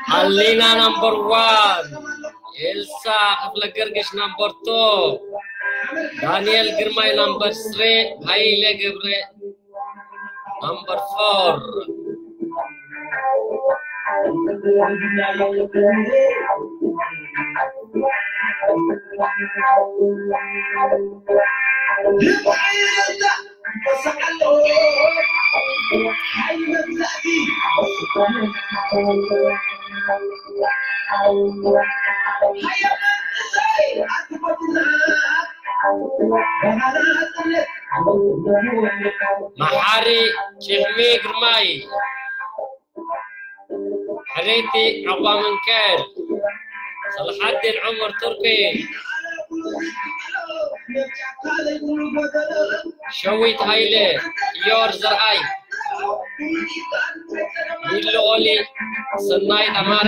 ሃሌና ናምበር ዋን፣ ኤልሳ ክፍለ ገርግሽ ናምበር ቱ፣ ዳንኤል ግርማይ ናምበር ስሪ፣ ሃይለ ገብረ ናምበር ፎር። መሓሪ ጭሕሚ ግርማይ፣ ሕርይቲ ዑቕባ ምንከል፣ ሰልሓዲን ዑመር ቱርኪ፣ ሸዊት ሃይለ፣ ዮር ዘርኣይ፣ ሚሊ ኦሊ፣ ሰናይት ኣማረ፣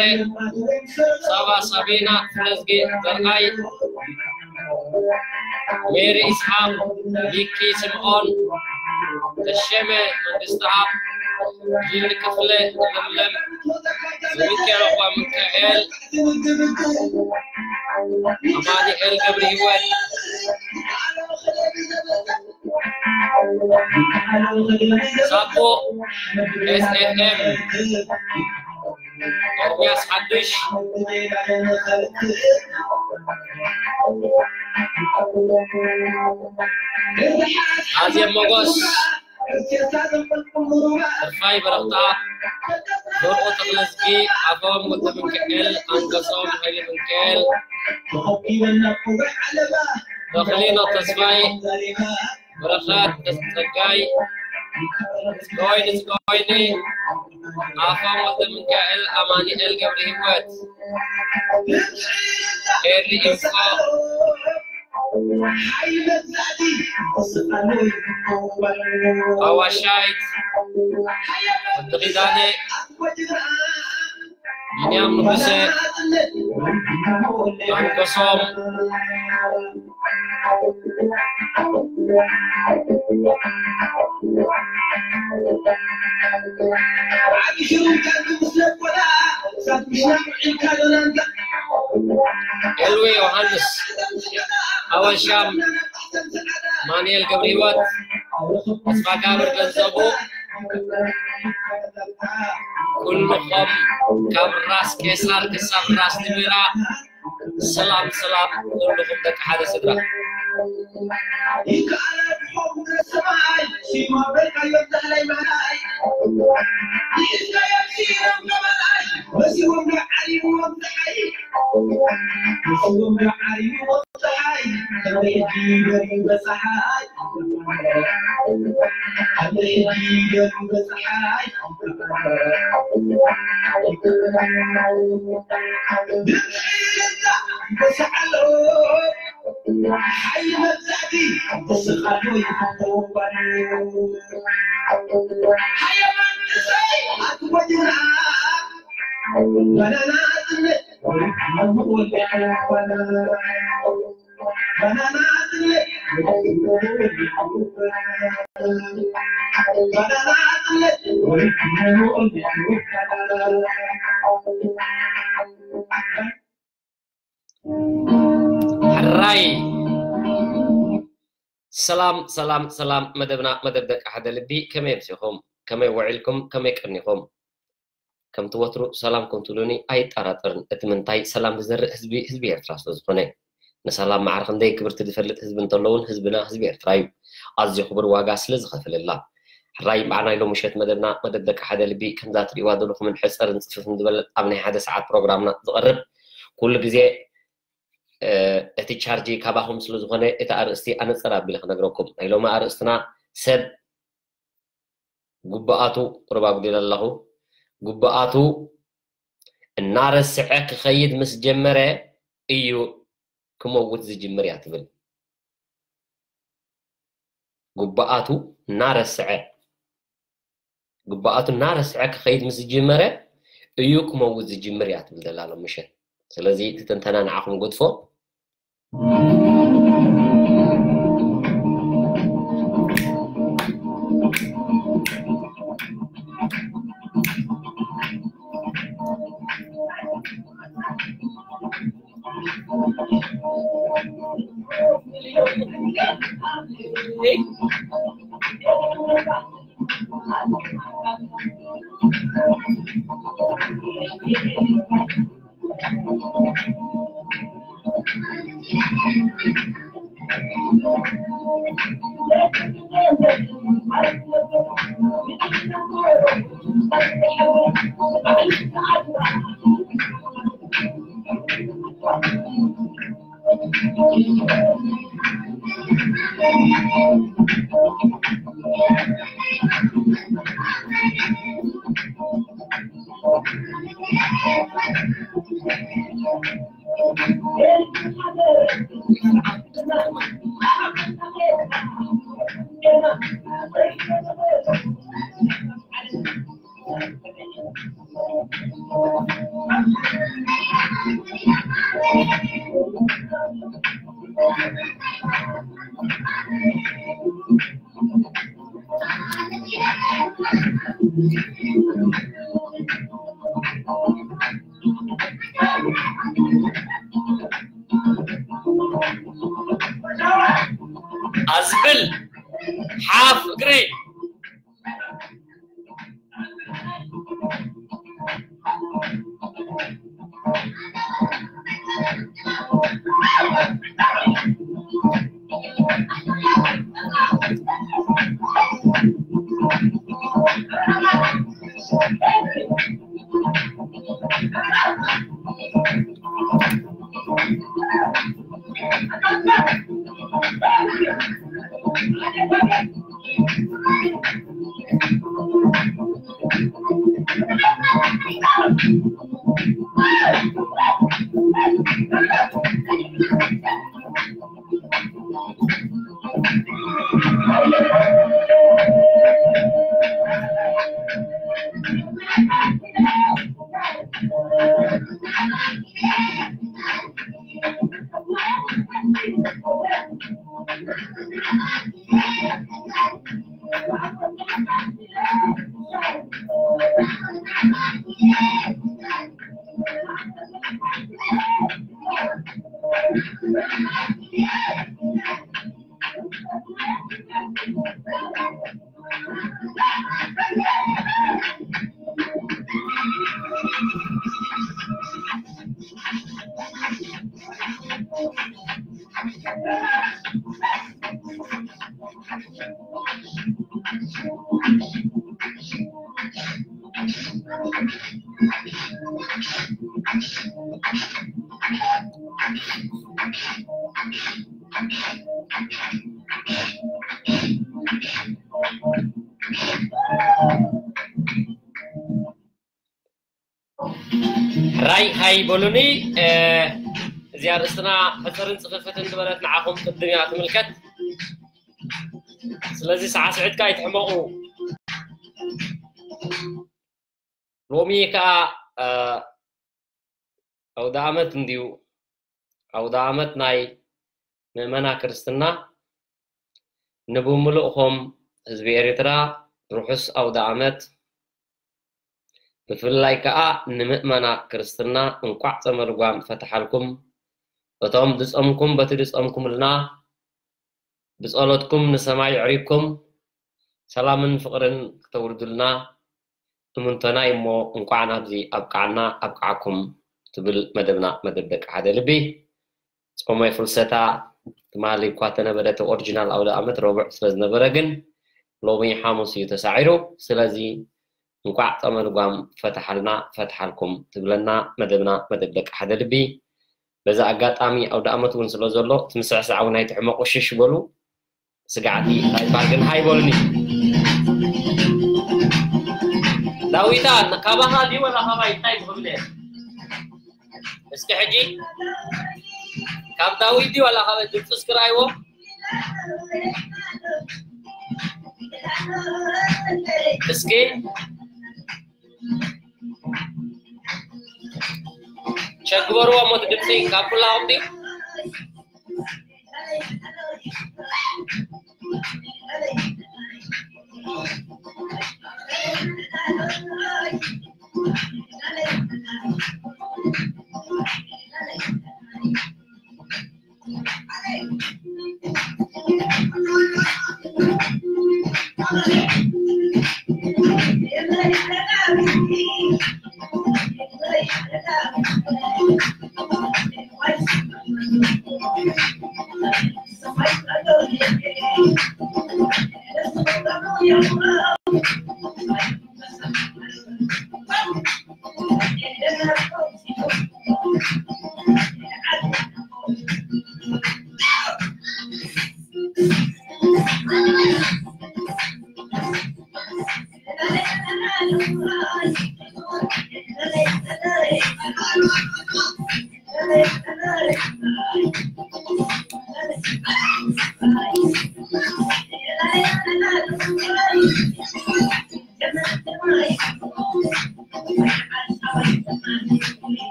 ሳባ ሳቤና፣ ፍረዝጌ ዘርኣይ፣ ሜሪ ኢስሓቅ፣ ሚኪ ስምኦን፣ ተሸመ መንግስትኣብ፣ ሊሊ ክፍለ፣ ለምለም፣ ዘሚካኤል ኦባ ሚካኤል፣ ኣማኑኤል ገብረ ህይወት፣ ሳቦ ኤስ ኤፍ ኤም፣ ኤርምያስ ሓዱሽ። ኣዜብ ሞጎስ፣ ተስፋይ በረኽታ፣ ዘርኡ ተኽለዝጊ፣ ኣፎም ወልደ ሚካኤል፣ ኣንገሶም ሃይለ ሚካኤል፣ ተኽሊኖ ተስፋይ፣ በረኸት ጸጋይ፣ ጽጋወይኒ ጽጋወይኒ፣ ኣፎም ወልደ ሚካኤል፣ ኣማኑኤል ገብረ ህይወት፣ ኤሪ ኢንፎ፣ ኣዋሻይት፣ ወዲ ኪዳነ፣ ቢንያም ንጉሰ፣ ኣንገሶም፣ ኤልዊ ዮሃንስ፣ ኣወሻም፣ ማኑኤል ገብረ ህይወት፣ ተስፋጋብር ገንዘቡ፣ ኩልኹም ካብ ራስ ቄሳር ክሳብ ራስ ንቢራ፣ ሰላም ሰላም፣ ኩልኹም ደቂ ሓደ ስድራ። ይከኣል ብሖም ሰማይ፣ ሲማ በልካዮ ዳህላይ ማላይ። ይእዝጋዮም ሲሮም ገበላይ፣ መሲዎም ዶ ዓሊምዎም ፀሓይ? መሲዎም ዶ ዓሊምዎም ፀሓይ? ከመይ ሕጂ ደርዩ በፀሓይ? ከመይ ሕጂ ደርዩ በፀሓይ? ሕራይ። ሰላም ሰላም ሰላም፣ መደብና መደብ ደቂ ሓደ ልቢ፣ ከመይ ኣምሲኹም? ከመይ ውዒልኩም? ከመይ ቀኒኹም? ከምቲ ወትሩ ሰላም ከም ትብሉኒ ኣይጠራጠርን። እቲ ምንታይ፣ ሰላም ዝዘርእ ህዝቢ፣ ህዝቢ ኤርትራ ስለ ዝኾነ። ንሰላም ማዕረ ክንደይ ክብርቲ ዝፈልጥ ህዝቢ እንተሎ እውን ህዝብና ህዝቢ ኤርትራ እዩ። ኣዝዩ ክቡር ዋጋ ስለ ዝኸፍለላ። ሕራይ፣ በዓል ናይ ሎሚ ምሸት መደብና፣ መደብ ደቂ ሓደ ልቢ፣ ከምዛ ትርእይዋ ዘለኹምን ሕጽርን ጽፍፍን ዝበለት ኣብ ናይ ሓደ ሰዓት ፕሮግራምና ዝቐርብ፣ ኩሉ ግዜ፣ እ፣ እቲ ቻርጅ ካባኹም ስለ ዝኾነ፣ እቲ ኣርእስቲ ኣነጸር ኣቢለ ክነግረኩም። ናይ ሎሚ ኣርእስትና ሰብ ጉብኣቱ፣ ቁሩብ ኣጉዲለ ኣለኹ፣ ጉብኣቱ እናረስዐ ክኸይድ ምስ ጀመረ እዩ ክመውት ዝጅምር እያ ትብል። ጉብኣቱ እናረስዐ ግብኣቱ እናረስዐ ክኸይድ ምስ ዝጅመረ እዩ ክመውት ዝጅምር እያ ትብል ዘላ ሎም ምሸት። ስለዚ እቲ ትንተና ንዓኹም ገድፎ። ኣዝብል ሓፍ እግሪ። ሕራይ ሃይ በሉኒ። እዚ ኣርእስትና ሕፅርን ፅፍፍትን ዝበለት ንዓኹም ቅድም እያ ትምልከት። ስለዚ ሳዕስዒትካ ኣይትሕመቑ። ሎሚ ከዓ ኣውደ ኣመት እንድዩ። ኣውደ ኣመት ናይ ምእመና ክርስትና። ንብምሉእኹም ህዝቢ ኤርትራ ርሑስ ኣውደ ኣመት። ብፍላይ ከዓ ንምእመና ክርስትና እንኳዕ ጸመ ልጓም ፈትሓልኩም። እቶም ድጸምኩም በቲ ድጸምኩምልና ብጸሎትኩም ንሰማይ ኣዕሪግኩም ሰላምን ፍቕርን ክተውርዱልና እምንቶና እዩ እሞ እንኳዕ ናብዚ ኣብቃዓና ኣብቃዓኩም ትብል መደብና መደብ ደቂ ሓደ ልቢ። ጾመ ፍልሰታ ትማሊ እኳ ተነበረ እቲ ኦሪጂናል ኣውደ ኣመት ረቡዕ ስለ ዝነበረ ግን ሎሚ ሓሙስ እዩ ተሳዒሩ። ስለዚ እንኳዕ ጸመ ልጓም ፈትሓልና ፈትሓልኩም ትብለና መደብና መደብ ደቂ ሓደ ልቢ። በዚ ኣጋጣሚ ኣውደ ኣመት እውን ስለ ዘሎ እቲ ምስዕሳዕ እውን ኣይትሕመቑ ሽሽ በሉ። ስጋዕቲ እንታይ ይበሃል ግን ሃይ በሉኒ። ዳዊታ ካባኻ ድዩ ወላ ካባይ እንታይ ክብለ? እስኪ ሕጂ ካብ ዳዊት ድዩ ወላ ካባይ ድምፁ እስኪ ረኣይዎ። እስኪ ቸግበርዋ ሞት ድምፂ ካብ ኩላ ኣውዲ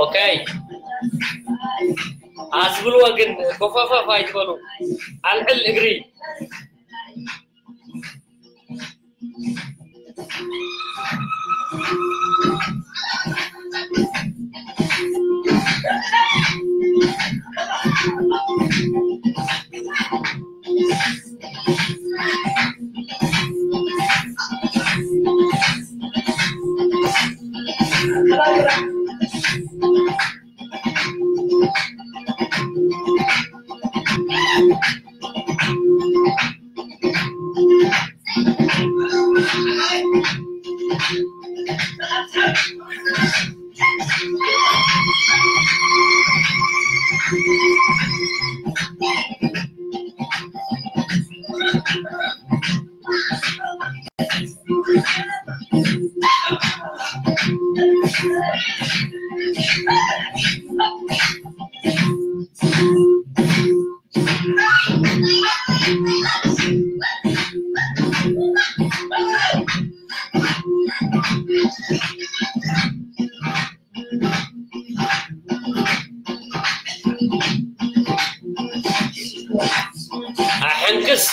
ኦኬ ኣስብልዎ ግን ኮፋፋፍ ኣይትበሉ። ኣልዕል እግሪ ኣሕንክስ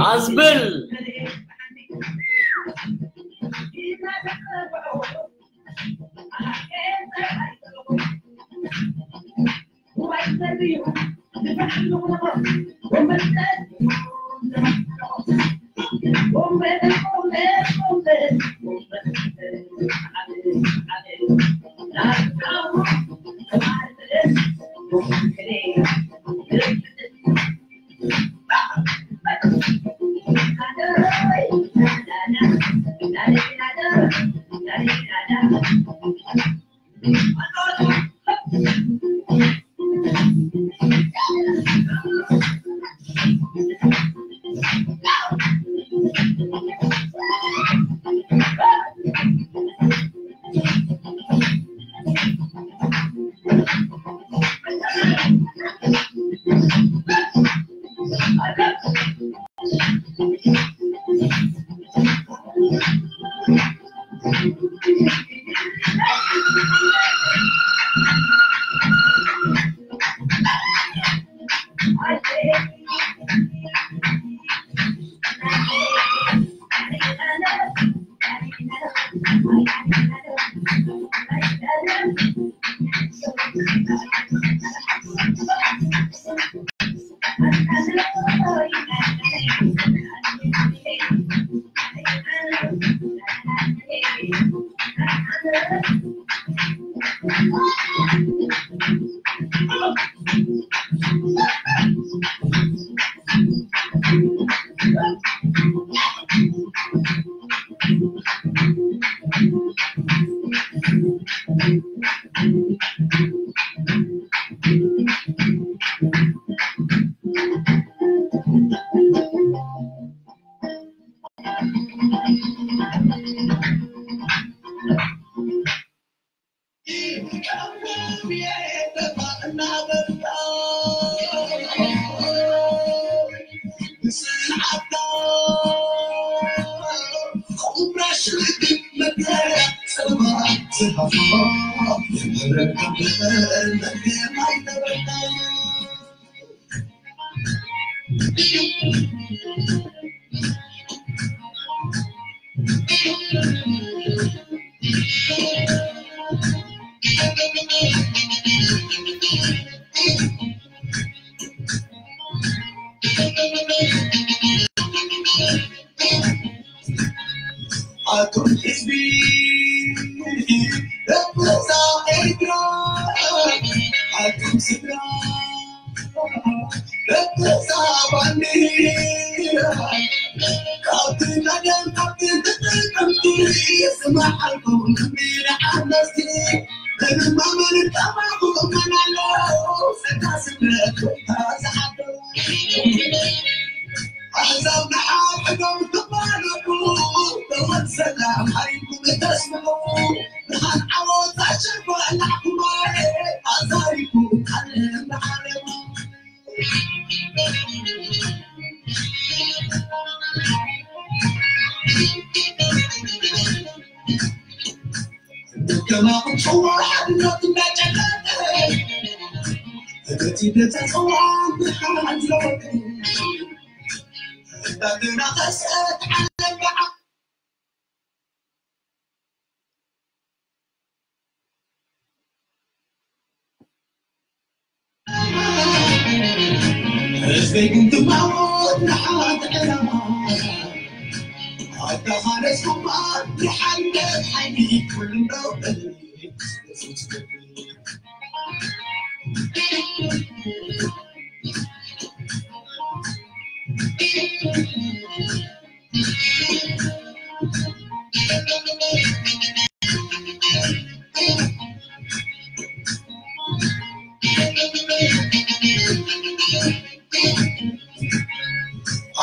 ኣዝብል። ኣቱም ህዝቢ ደብዛ ኤርትራ፣ ኣቱም ስድራ ደብዛ ባንዲራ፣ ካብቲ ቀደም ካብቲ ተጠቀምቲ ይስማዓልኩም ንዓመስቲ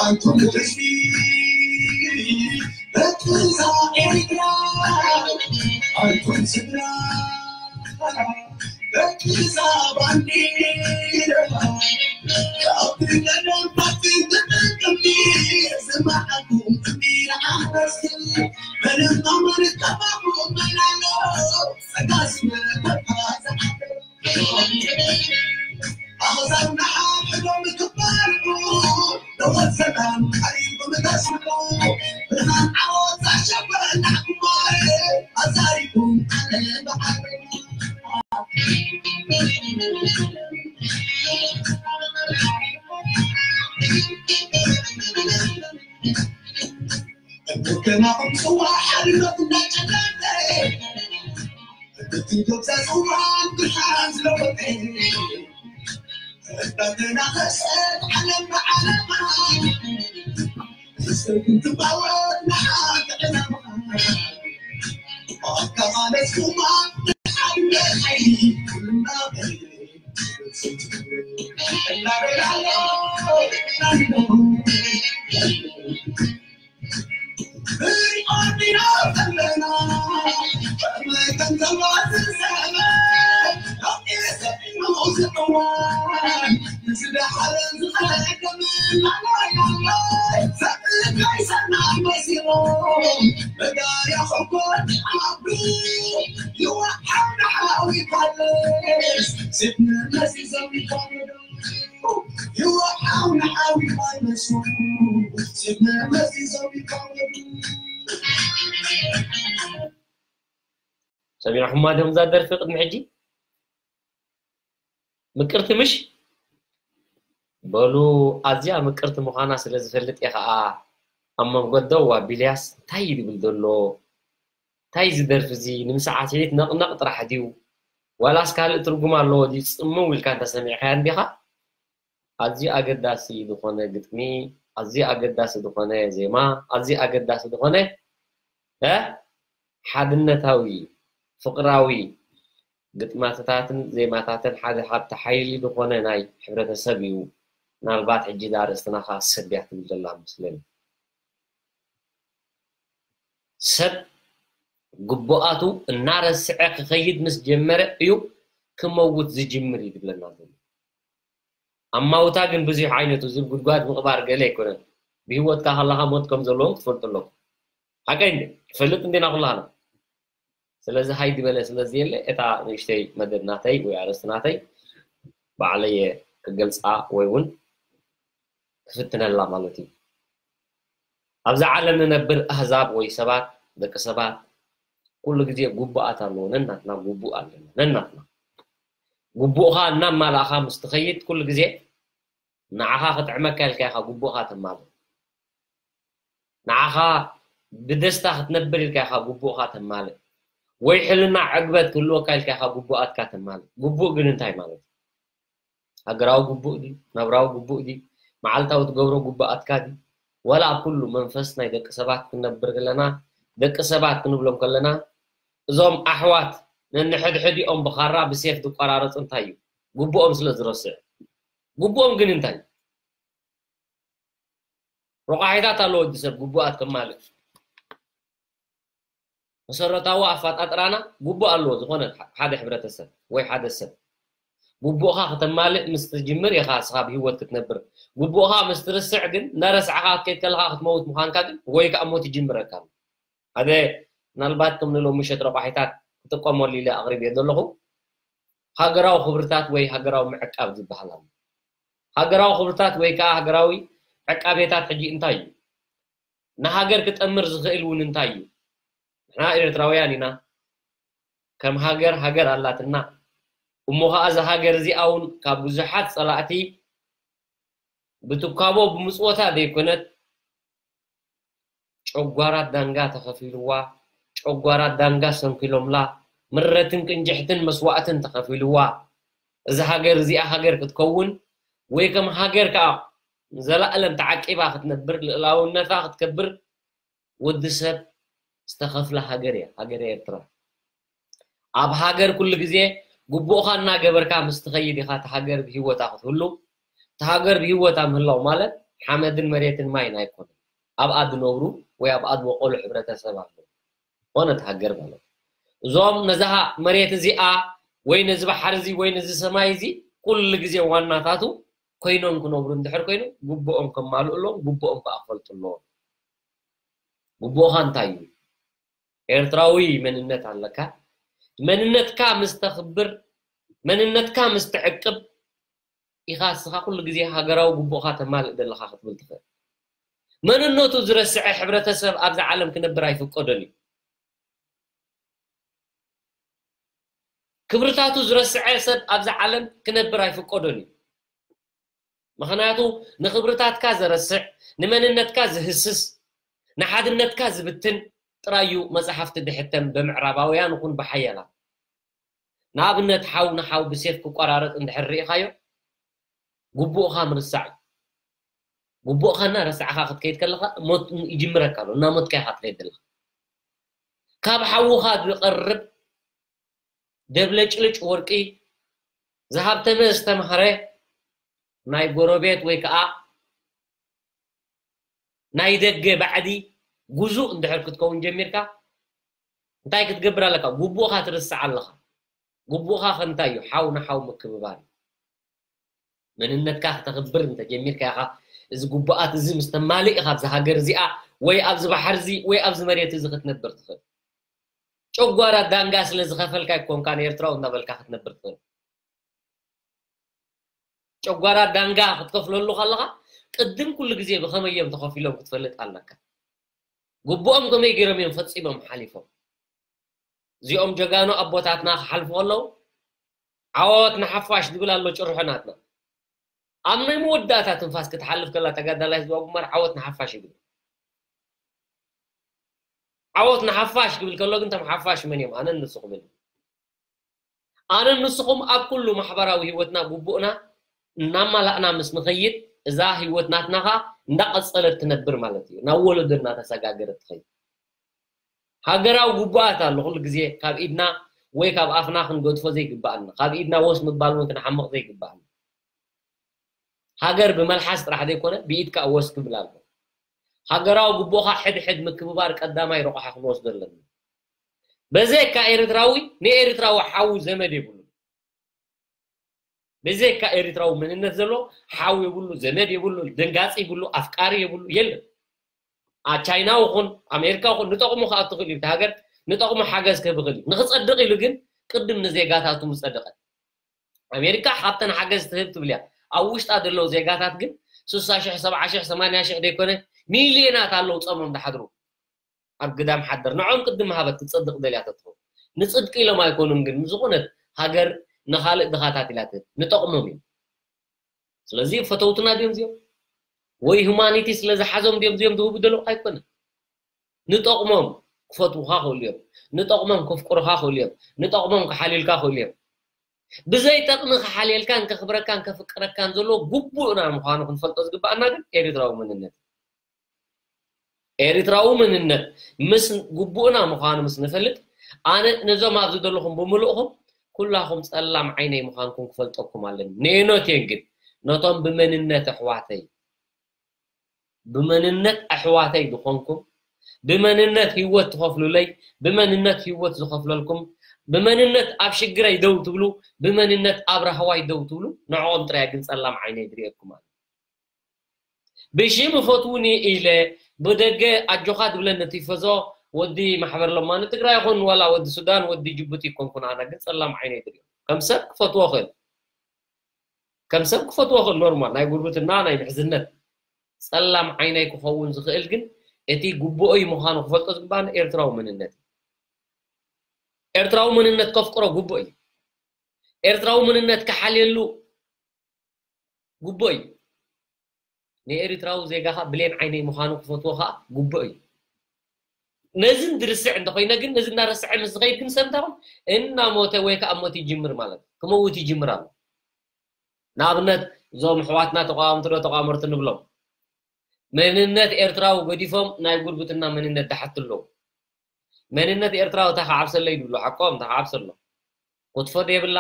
ኣንቱም ህዝቢ በትዛ ኤርትራ፣ ኣንቱም ስድራ በትዛ ባንዲራ፣ ካብቲ ቀደም ካብቲ ተጠቀምቲ ዝመሓኩም እምቢራ ኣሕረስቲ፣ ምንም ኣማን ተባኹ መናሎ ጸጋስ መበታ ዝሓደር ሰሚዕኹማ ዲኹም እዛ ደርፊ ቅድሚ ሕጂ? ምቅርቲ ምሽ? በሉ፣ ኣዝያ ምቅርቲ ምዃና ስለ ዝፈልጥ እየ ኸኣ ኣብ መንጎ ደው ኣቢለያስ እንታይ እዩ ዝብል ዘሎ? እንታይ እዚ ደርፊ እዚ? ንምሳዕስዒት ነቕነቕ ጥራሕ ድዩ? ዋላስ ካልእ ትርጉም ኣለዎ ድዩ? ጽምው ኢልካ እንተሰሚዕካያ እንዲኻ? ኣዝዩ ኣገዳሲ ዝኾነ ግጥሚ፣ ኣዝዩ ኣገዳሲ ዝኾነ ዜማ፣ ኣዝዩ ኣገዳሲ ዝኾነ፣ እ፣ ሓድነታዊ፣ ፍቕራዊ ግጥማትታትን ዜማታትን ሓደ ሃብቲ ሓይሊ ዝኾነ ናይ ሕብረተሰብ እዩ። ምናልባት ሕጂ እዛ ኣርእስትና ኸኣ ሰብ እያ ትብል ዘላ መስለኒ። ሰብ ግቡኣቱ እናረስዐ ክኸይድ ምስ ጀመረ እዩ ክመውት ዝጅምር እዩ ዝብለና ዘሎ። ኣማውታ ግን ብዙሕ ዓይነት እዩ። እዚ ጉድጓድ ምቕባር ገለ ኣይኮነን። ብህይወትካ ከለኻ ሞት ከም ዘለዎም ክትፈልጡ ኣለኩም። ሓቀይ እንዴ? ትፈልጥ እንዴና ኩላህና? ስለዚ ሃይ ዝበለ ስለ ዘየለ፣ እታ ንእሽተይ መደብ ናተይ ወይ ኣርእስቲ ናተይ ባዕለየ ክገልጻ ወይ እውን ክፍትነላ ማለት እዩ። ኣብዛ ዓለም ንነብር ኣህዛብ ወይ ሰባት፣ ደቂ ሰባት፣ ኩሉ ግዜ ግቡኣት ኣለዎ። ነናትና ግቡእ ኣለና። ነናትና። ግቡእኻ እናማላእኻ ምስ ትኸይድ፣ ኩሉ ግዜ ንዓኻ ክጥዕመካ ኢልካ ኢኻ ግቡእኻ ተማልእ። ንዓኻ ብደስታ ክትነብር ኢልካ ኢኻ ግቡእኻ ተማልእ። ወይ ሕልና ዕግበት ክህልወካ ኢልካ ኢኻ ግቡኣትካ ተማልእ። ግቡእ ግን እንታይ ማለት እዩ? ሃገራዊ ግቡእ ድዩ? ናብራዊ ግቡእ ድዩ? መዓልታዊ ትገብሮ ግቡኣትካ ድዩ? ዋላ ኣብ ኩሉ መንፈስ ናይ ደቂ ሰባት ክንነብር ከለና፣ ደቂ ሰባት ክንብሎም ከለና፣ እዞም ኣሕዋት ነንሕድሕዲኦም ብኻራ ብሴፍ ዝቆራረፁ እንታይ እዩ? ግቡኦም ስለ ዝረስዕ። ግቡኦም ግን እንታይ እዩ? ረቋሒታት ኣለዎ ወዲ ሰብ ግቡኣት ከማልእ። መሰረታዊ ኣፈጣጥራና ግቡእ ኣለዎ። ዝኾነ ሓደ ሕብረተሰብ ወይ ሓደ ሰብ ግቡእኻ ከተማልእ ምስ ትጅምር ኢኻ እስኻ ብህይወት ክትነብር። ግቡእኻ ምስ ትርስዕ ግን እናረሳዕኻ ክትከይድ ከለኻ ክትመውት ምዃንካ ግን ወይ ከዓ ሞት ይጅምረካ ኣሎ። ሓደ ምናልባት ከም ንሎሚ ምሸት ረቋሒታት ክጥቀመሉ ኢለ ኣቕሪብዮ ዘለኹ ሃገራዊ ክብርታት ወይ ሃገራዊ ምዕቃብ ዝበሃል ኣሎ። ሃገራዊ ክብርታት ወይ ከዓ ሃገራዊ ዕቃቤታት ሕጂ እንታይ እዩ? ንሃገር ክጠምር ዝኽእል እውን እንታይ እዩ? ንሕና ኤርትራውያን ኢና። ከም ሃገር ሃገር ኣላትና። እሞ ኸዓ እዛ ሃገር እዚኣ እውን ካብ ብዙሓት ጸላእቲ ብትካቦ ብምጽወታ ዘይኮነት ጨጓራት ዳንጋ ተኸፊልዋ፣ ጨጓራት ዳንጋ ሰንኪሎምላ፣ ምረትን ቅንጅሕትን መስዋእትን ተኸፊልዋ እዛ ሃገር እዚኣ ሃገር ክትከውን ወይ ከም ሃገር ከዓ ንዘላእለም ተዓቂባ ክትነብር ልእላውነታ ክትከብር ወዲ ሰብ ዝተኸፍለ ሃገር እያ ሃገር ኤርትራ። ኣብ ሃገር ኩሉ ግዜ ግቡእኻ እናገበርካ ምስ ትኸይድ ኢኻ እቲ ሃገር ብህይወታ ክትህሉ። እቲ ሃገር ብህይወታ ምህላው ማለት ሓመድን መሬትን ማይን ኣይኮነን። ኣብኣ ዝነብሩ ወይ ኣብኣ ዝበቆሉ ሕብረተሰብ ኣለዉ። ኮነ እቲ ሃገር ማለት እዞም ነዛ መሬት እዚኣ ወይ ነዚ ባሕሪ እዚ ወይ ነዚ ሰማይ እዚ ኩሉ ግዜ ዋናታቱ ኮይኖም ክነብሩ እንድሕር ኮይኖም ግቡኦም ከማልኡ ኣለዎም፣ ግቡኦም ከዓ ክፈልጡ ኣለዎም። ግቡእኻ እንታይ እዩ? ኤርትራዊ መንነት ኣለካ። መንነትካ ምስ ተኽብር፣ መንነትካ ምስ ትዕቅብ ኢኻ እስኻ ኩሉ ግዜ ሃገራዊ ግቡእኻ ተማልእ ዘለኻ ክትብል ትኽእል። መንነቱ ዝረስዐ ሕብረተሰብ ኣብዛ ዓለም ክነብር ኣይፍቀዶን እዩ። ክብርታቱ ዝረስዐ ሰብ ኣብዛ ዓለም ክነብር ኣይፍቀዶን እዩ። ምኽንያቱ ንኽብርታትካ ዘረስዕ፣ ንመንነትካ ዝህስስ፣ ንሓድነትካ ዝብትን ጥራይ እዩ መጽሓፍቲ ድሕተም ብምዕራባውያን ይኹን ብሓያላት። ንኣብነት ሓው ንሓው ብሴፍ ክቆራረጥ እንድሕር ርኢኻዮ ግቡእኻ ምርሳዕ እዩ። ግቡእኻ እናረሳዕኻ ክትከይድ ከለኻ ሞት ይጅምረካ ኣሎ። እናሞትካ ኢኻ ትኸይድ ዘለኻ። ካብ ሓውኻ ዝቐርብ ደብለጭልጭ ወርቂ ዝሃብተመ ዝተምሃረ ናይ ጎረቤት ወይ ከዓ ናይ ደገ ባዕዲ ጉዙእ እንድሕር ክትከውን ጀሚርካ እንታይ ክትገብር ኣለካ? ግቡእኻ ትርስዕ ኣለኻ። ግቡእኻ ከ እንታይ እዩ? ሓው ንሓው ምክብባር እዩ። መንነትካ ክተኽብር እንተጀሚርካ ኢኻ እዚ ግቡኣት እዚ ምስ ተማልእ ኢኻ ኣብዚ ሃገር እዚኣ ወይ ኣብዚ ባሕሪ እዚ ወይ ኣብዚ መሬት እዚ ክትነብር ትኽእል። ጨጓራ ዳንጋ ስለ ዝኸፈልካ ኣይኮንካን ኤርትራዊ እናበልካ ክትነብር ትኽእል። ጨጓራ ዳንጋ ክትከፍለሉ ከለኻ ቅድም ኩሉ ግዜ ብኸመይ እዮም ተኸፊሎም ክትፈልጥ ኣለካ። ግቡኦም ከመይ ገይሮም እዮም ፈጺሞም ሓሊፎም። እዚኦም ጀጋኑ ኣቦታትና ክሓልፉ ከለዉ ዓወት ንሓፋሽ ዝብል ኣሎ ጭርሖ ናትና። ኣብ ናይ መወዳእታ ትንፋስ ክትሓልፍ ከላ ተጋዳላይ ህዝባዊ ግንባር ዓወት ንሓፋሽ ይብል። ዓወት ንሓፋሽ ክብል ከሎ ግን እቶም ሓፋሽ መን እዮም? ኣነን ንስኹምን። ኣነን ንስኹም ኣብ ኩሉ ማሕበራዊ ህይወትና ግቡእና እናማላእና ምስ ንኸይድ እዛ ህይወት ናትና ኸዓ እንዳቐጸለት ትነብር ማለት እዩ። ናብ ወለዶ እናተሰጋገረት ትኸይድ። ሃገራዊ ግቡኣት ኣሎ ኩሉ ግዜ ካብ ኢድና ወይ ካብ ኣፍና ክንገድፎ ዘይግባኣና፣ ካብ ኢድና ወስ ምባል እውን ክንሓምቕ ዘይግባኣና። ሃገር ብመልሓስ ጥራሕ ዘይኮነ ብኢድ ከዓ ወስ ክብል ኣሎ። ሃገራዊ ግቡእኻ ሕድሕድ ምክብባር ቀዳማይ ረቑሓ ክንወስዶ ኣለና። በዘካ ኤርትራዊ ንኤርትራዊ ሓው ዘመድ የብሉን። ብዘካ ኤርትራዊ መንነት ዘሎ ሓው የብሉ፣ ዘመድ የብሉ፣ ደንጋጺ የብሉ፣ ኣፍቃሪ የብሉ፣ የለን። ኣብ ቻይና ይኹን ኣሜሪካ ይኹን ንጠቕሙ ክኣቱ ክእል እዩ፣ እቲ ሃገር ንጠቕሙ ሓገዝ ክህብ ይኽእል እዩ። ንኽጸድቕ ኢሉ ግን ቅድም ንዜጋታቱ ምጸደቐ። ኣሜሪካ ካብተን ሓገዝ ትህብ ትብል እያ። ኣብ ውሽጣ ዘለዉ ዜጋታት ግን ስሳ ሽሕ፣ ሰብዓ ሽሕ፣ ሰማንያ ሽሕ ዘይኮነ ሚልዮናት ኣለዉ ጾሞም ዝሓድሩ። ኣብ ግዳም ሓደር ንዖም ቅድም ሃበት ትጸድቕ ደልያ ተትኸውን። ንጽድቂ ኢሎም ኣይኮኑን ግን ዝኾነት ሃገር ንኻልእ ድኻታት ኢላ ትህብ። ንጠቕሞም እዮም። ስለዚ ፈተውትና ድዮም እዚኦም? ወይ ሁማኒቲ ስለ ዝሓዞም ድዮም እዚኦም ዝህቡ ዘለዉ? ኣይኮነን። ንጠቕሞም ክፈትዉኻ ክእሉ እዮም። ንጠቕሞም ከፍቅሩኻ ክእሉ እዮም። ንጠቕሞም ክሓልዩልካ ክእሉ እዮም። ብዘይ ጠቕሚ ክሓልየልካን ከኽብረካን ከፍቅረካን ዘለዎ ግቡእና ምዃኑ ክንፈልጦ ዝግባኣና ግን ኤርትራዊ መንነት። ኤርትራዊ መንነት ምስ ግቡእና ምዃኑ ምስ ንፈልጥ ኣነ ነዞም ኣብዚ ዘለኹም ብምልእኹም ኩላኹም ጸላም ዓይነይ ምዃንኩም ክፈልጠኩም ኣለኒ። ንእኖት እየን ግን ነቶም ብመንነት ኣሕዋተይ፣ ብመንነት ኣሕዋተይ ዝኾንኩም፣ ብመንነት ህይወት ትኸፍሉለይ፣ ብመንነት ህይወት ዝኸፍለልኩም፣ ብመንነት ኣብ ሽግረይ ደው ትብሉ፣ ብመንነት ኣብ ራህዋይ ደው ትብሉ፣ ንዕኦም ጥራይ ግን ጸላም ዓይነይ ዝርእየኩም ኣሎ። ብሽም እፈትውኒ ኢለ ብደገ ኣጆኻ ዝብለኒ ቲፈዞ ወዲ ማሕበር ለማኒ ትግራይ ይኹን ዋላ ወዲ ሱዳን ወዲ ጅቡቲ ይኮንኩን ኣነ ግን ጸላም ዓይነይ ድርዮ ከም ሰብ ክፈትዎ ኽእል ከም ሰብ ክፈትዎ ኽእል ኖርማል ናይ ጉርብትና ናይ ምሕዝነት ጸላም ዓይነይ ክኸውን ዝኽእል ግን እቲ ጉቡኦይ ምዃኑ ክፈልጦ ዝግባኒ ኤርትራዊ መንነት እዩ። ኤርትራዊ መንነት ከፍቅሮ ጉቡእ እዩ። ኤርትራዊ መንነት ክሓልየሉ ጉቡእ እዩ። ንኤርትራዊ ዜጋ ኸኣ ብሌን ዓይነይ ምዃኑ ክፈትዎ ኸኣ ጉቡእ እዩ። ነዚ እንድርስዕ እንተኾይነ ግን ነዚ እናረስዐ ምስ ዝኸይድ ግን ሰብ እንታይ ኾን እናሞተ ወይ ከዓ ሞት ይጅምር ማለት እዩ። ክመውት ይጅምር ኣሎ። ንኣብነት እዞም ኣሕዋትና ተቋወምቲ ዶ ተቋመርቲ ንብሎም መንነት ኤርትራዊ ገዲፎም ናይ ጉርብትና መንነት ዝሓቱ ኣለዉ። መንነት ኤርትራዊ እንታይ ክዓብሰለይ ዝብሉ ሓቆም እንታይ ክዓብሰሎ ክትፎ ዘይብላ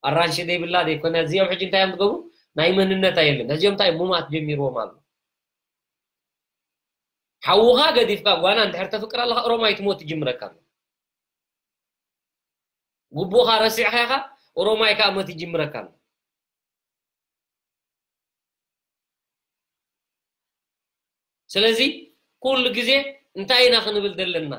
ኣራንሺ ዘይብላ ዘይኮነ እዚኦም ሕጂ እንታይ እዮም ዝገብሩ ናይ መንነት ኣየለን እዚኦም እንታይ ሙማት ጀሚርዎም ኣሎ ሓውኻ ገዲፍካ ጓና እንድሕር ተፍቅር ኣለኻ ኦሮማይ ትሞት ትጅምረካ ኣሎ ጉቡእኻ ረሲዕኻ ኢኻ ኦሮማይ ከዓ ሞት ይጅምረካ ኣሎ ስለዚ ኩሉ ግዜ እንታይ ኢና ክንብል ዘለና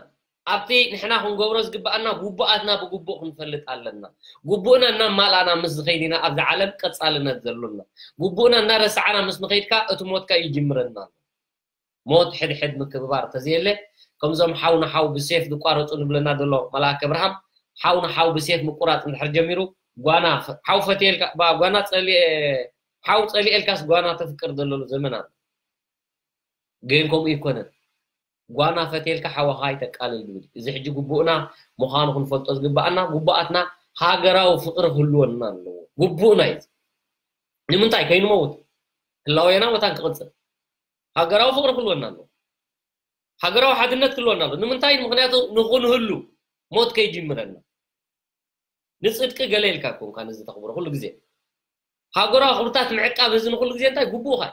ኣብቲ ንሕና ክንገብሮ ዝግባኣና ጉቡኣትና ብጉቡእ ክንፈልጥ ኣለና ጉቡእና እናማልኣና ምስ ዝኸይድ ኢና ኣብዚ ዓለም ቀፃልነት ዘሎና ጉቡእና እናረሳዕና ምስ ንኸይድካ እቲ ሞትካ ይጅምረና ኣሎ ሞት ሕድሕድ ምክብባር ተዘየለ ከምዞም ሓው ንሓው ብሴፍ ዝቋረፁ ንብለና ዘሎ መላክ ኣብርሃም ሓው ንሓው ብሴፍ ምቁራፅ እንድሕር ጀሚሩ ጓና ሓው ፈትየልካ ጓና ፀሊኤ ሓው ፀሊኤልካስ ጓና ተፍቅር ዘለሉ ዘመን ኣሎ ግን ከምኡ ይኮነን ጓና ፈትየልካ ሓወኻ ይተቃልል ዝብል እዚ ሕጂ ግቡእና ምዃኑ ክንፈልጦ ዝግባኣና ግቡኣትና ሃገራዊ ፍቅሪ ክህልወና ኣለዎ ግቡእና እዩ ንምንታይ ከይንመውት ህላወና መታን ክቕፅል ሃገራዊ ፍቅሪ ክህልወና ኣለዎ ሃገራዊ ሓድነት ክህልወና ኣለዎ ንምንታይ ምክንያቱ ንክንህሉ ሞት ከይጅምረና ንፅድቂ ገለ ኢልካ ኮንካ ነዚ ተኽብሮ ኩሉ ግዜ ሃገራዊ ክብርታት ምዕቃብ እዚ ንኩሉ ግዜ እንታይ ግቡእካ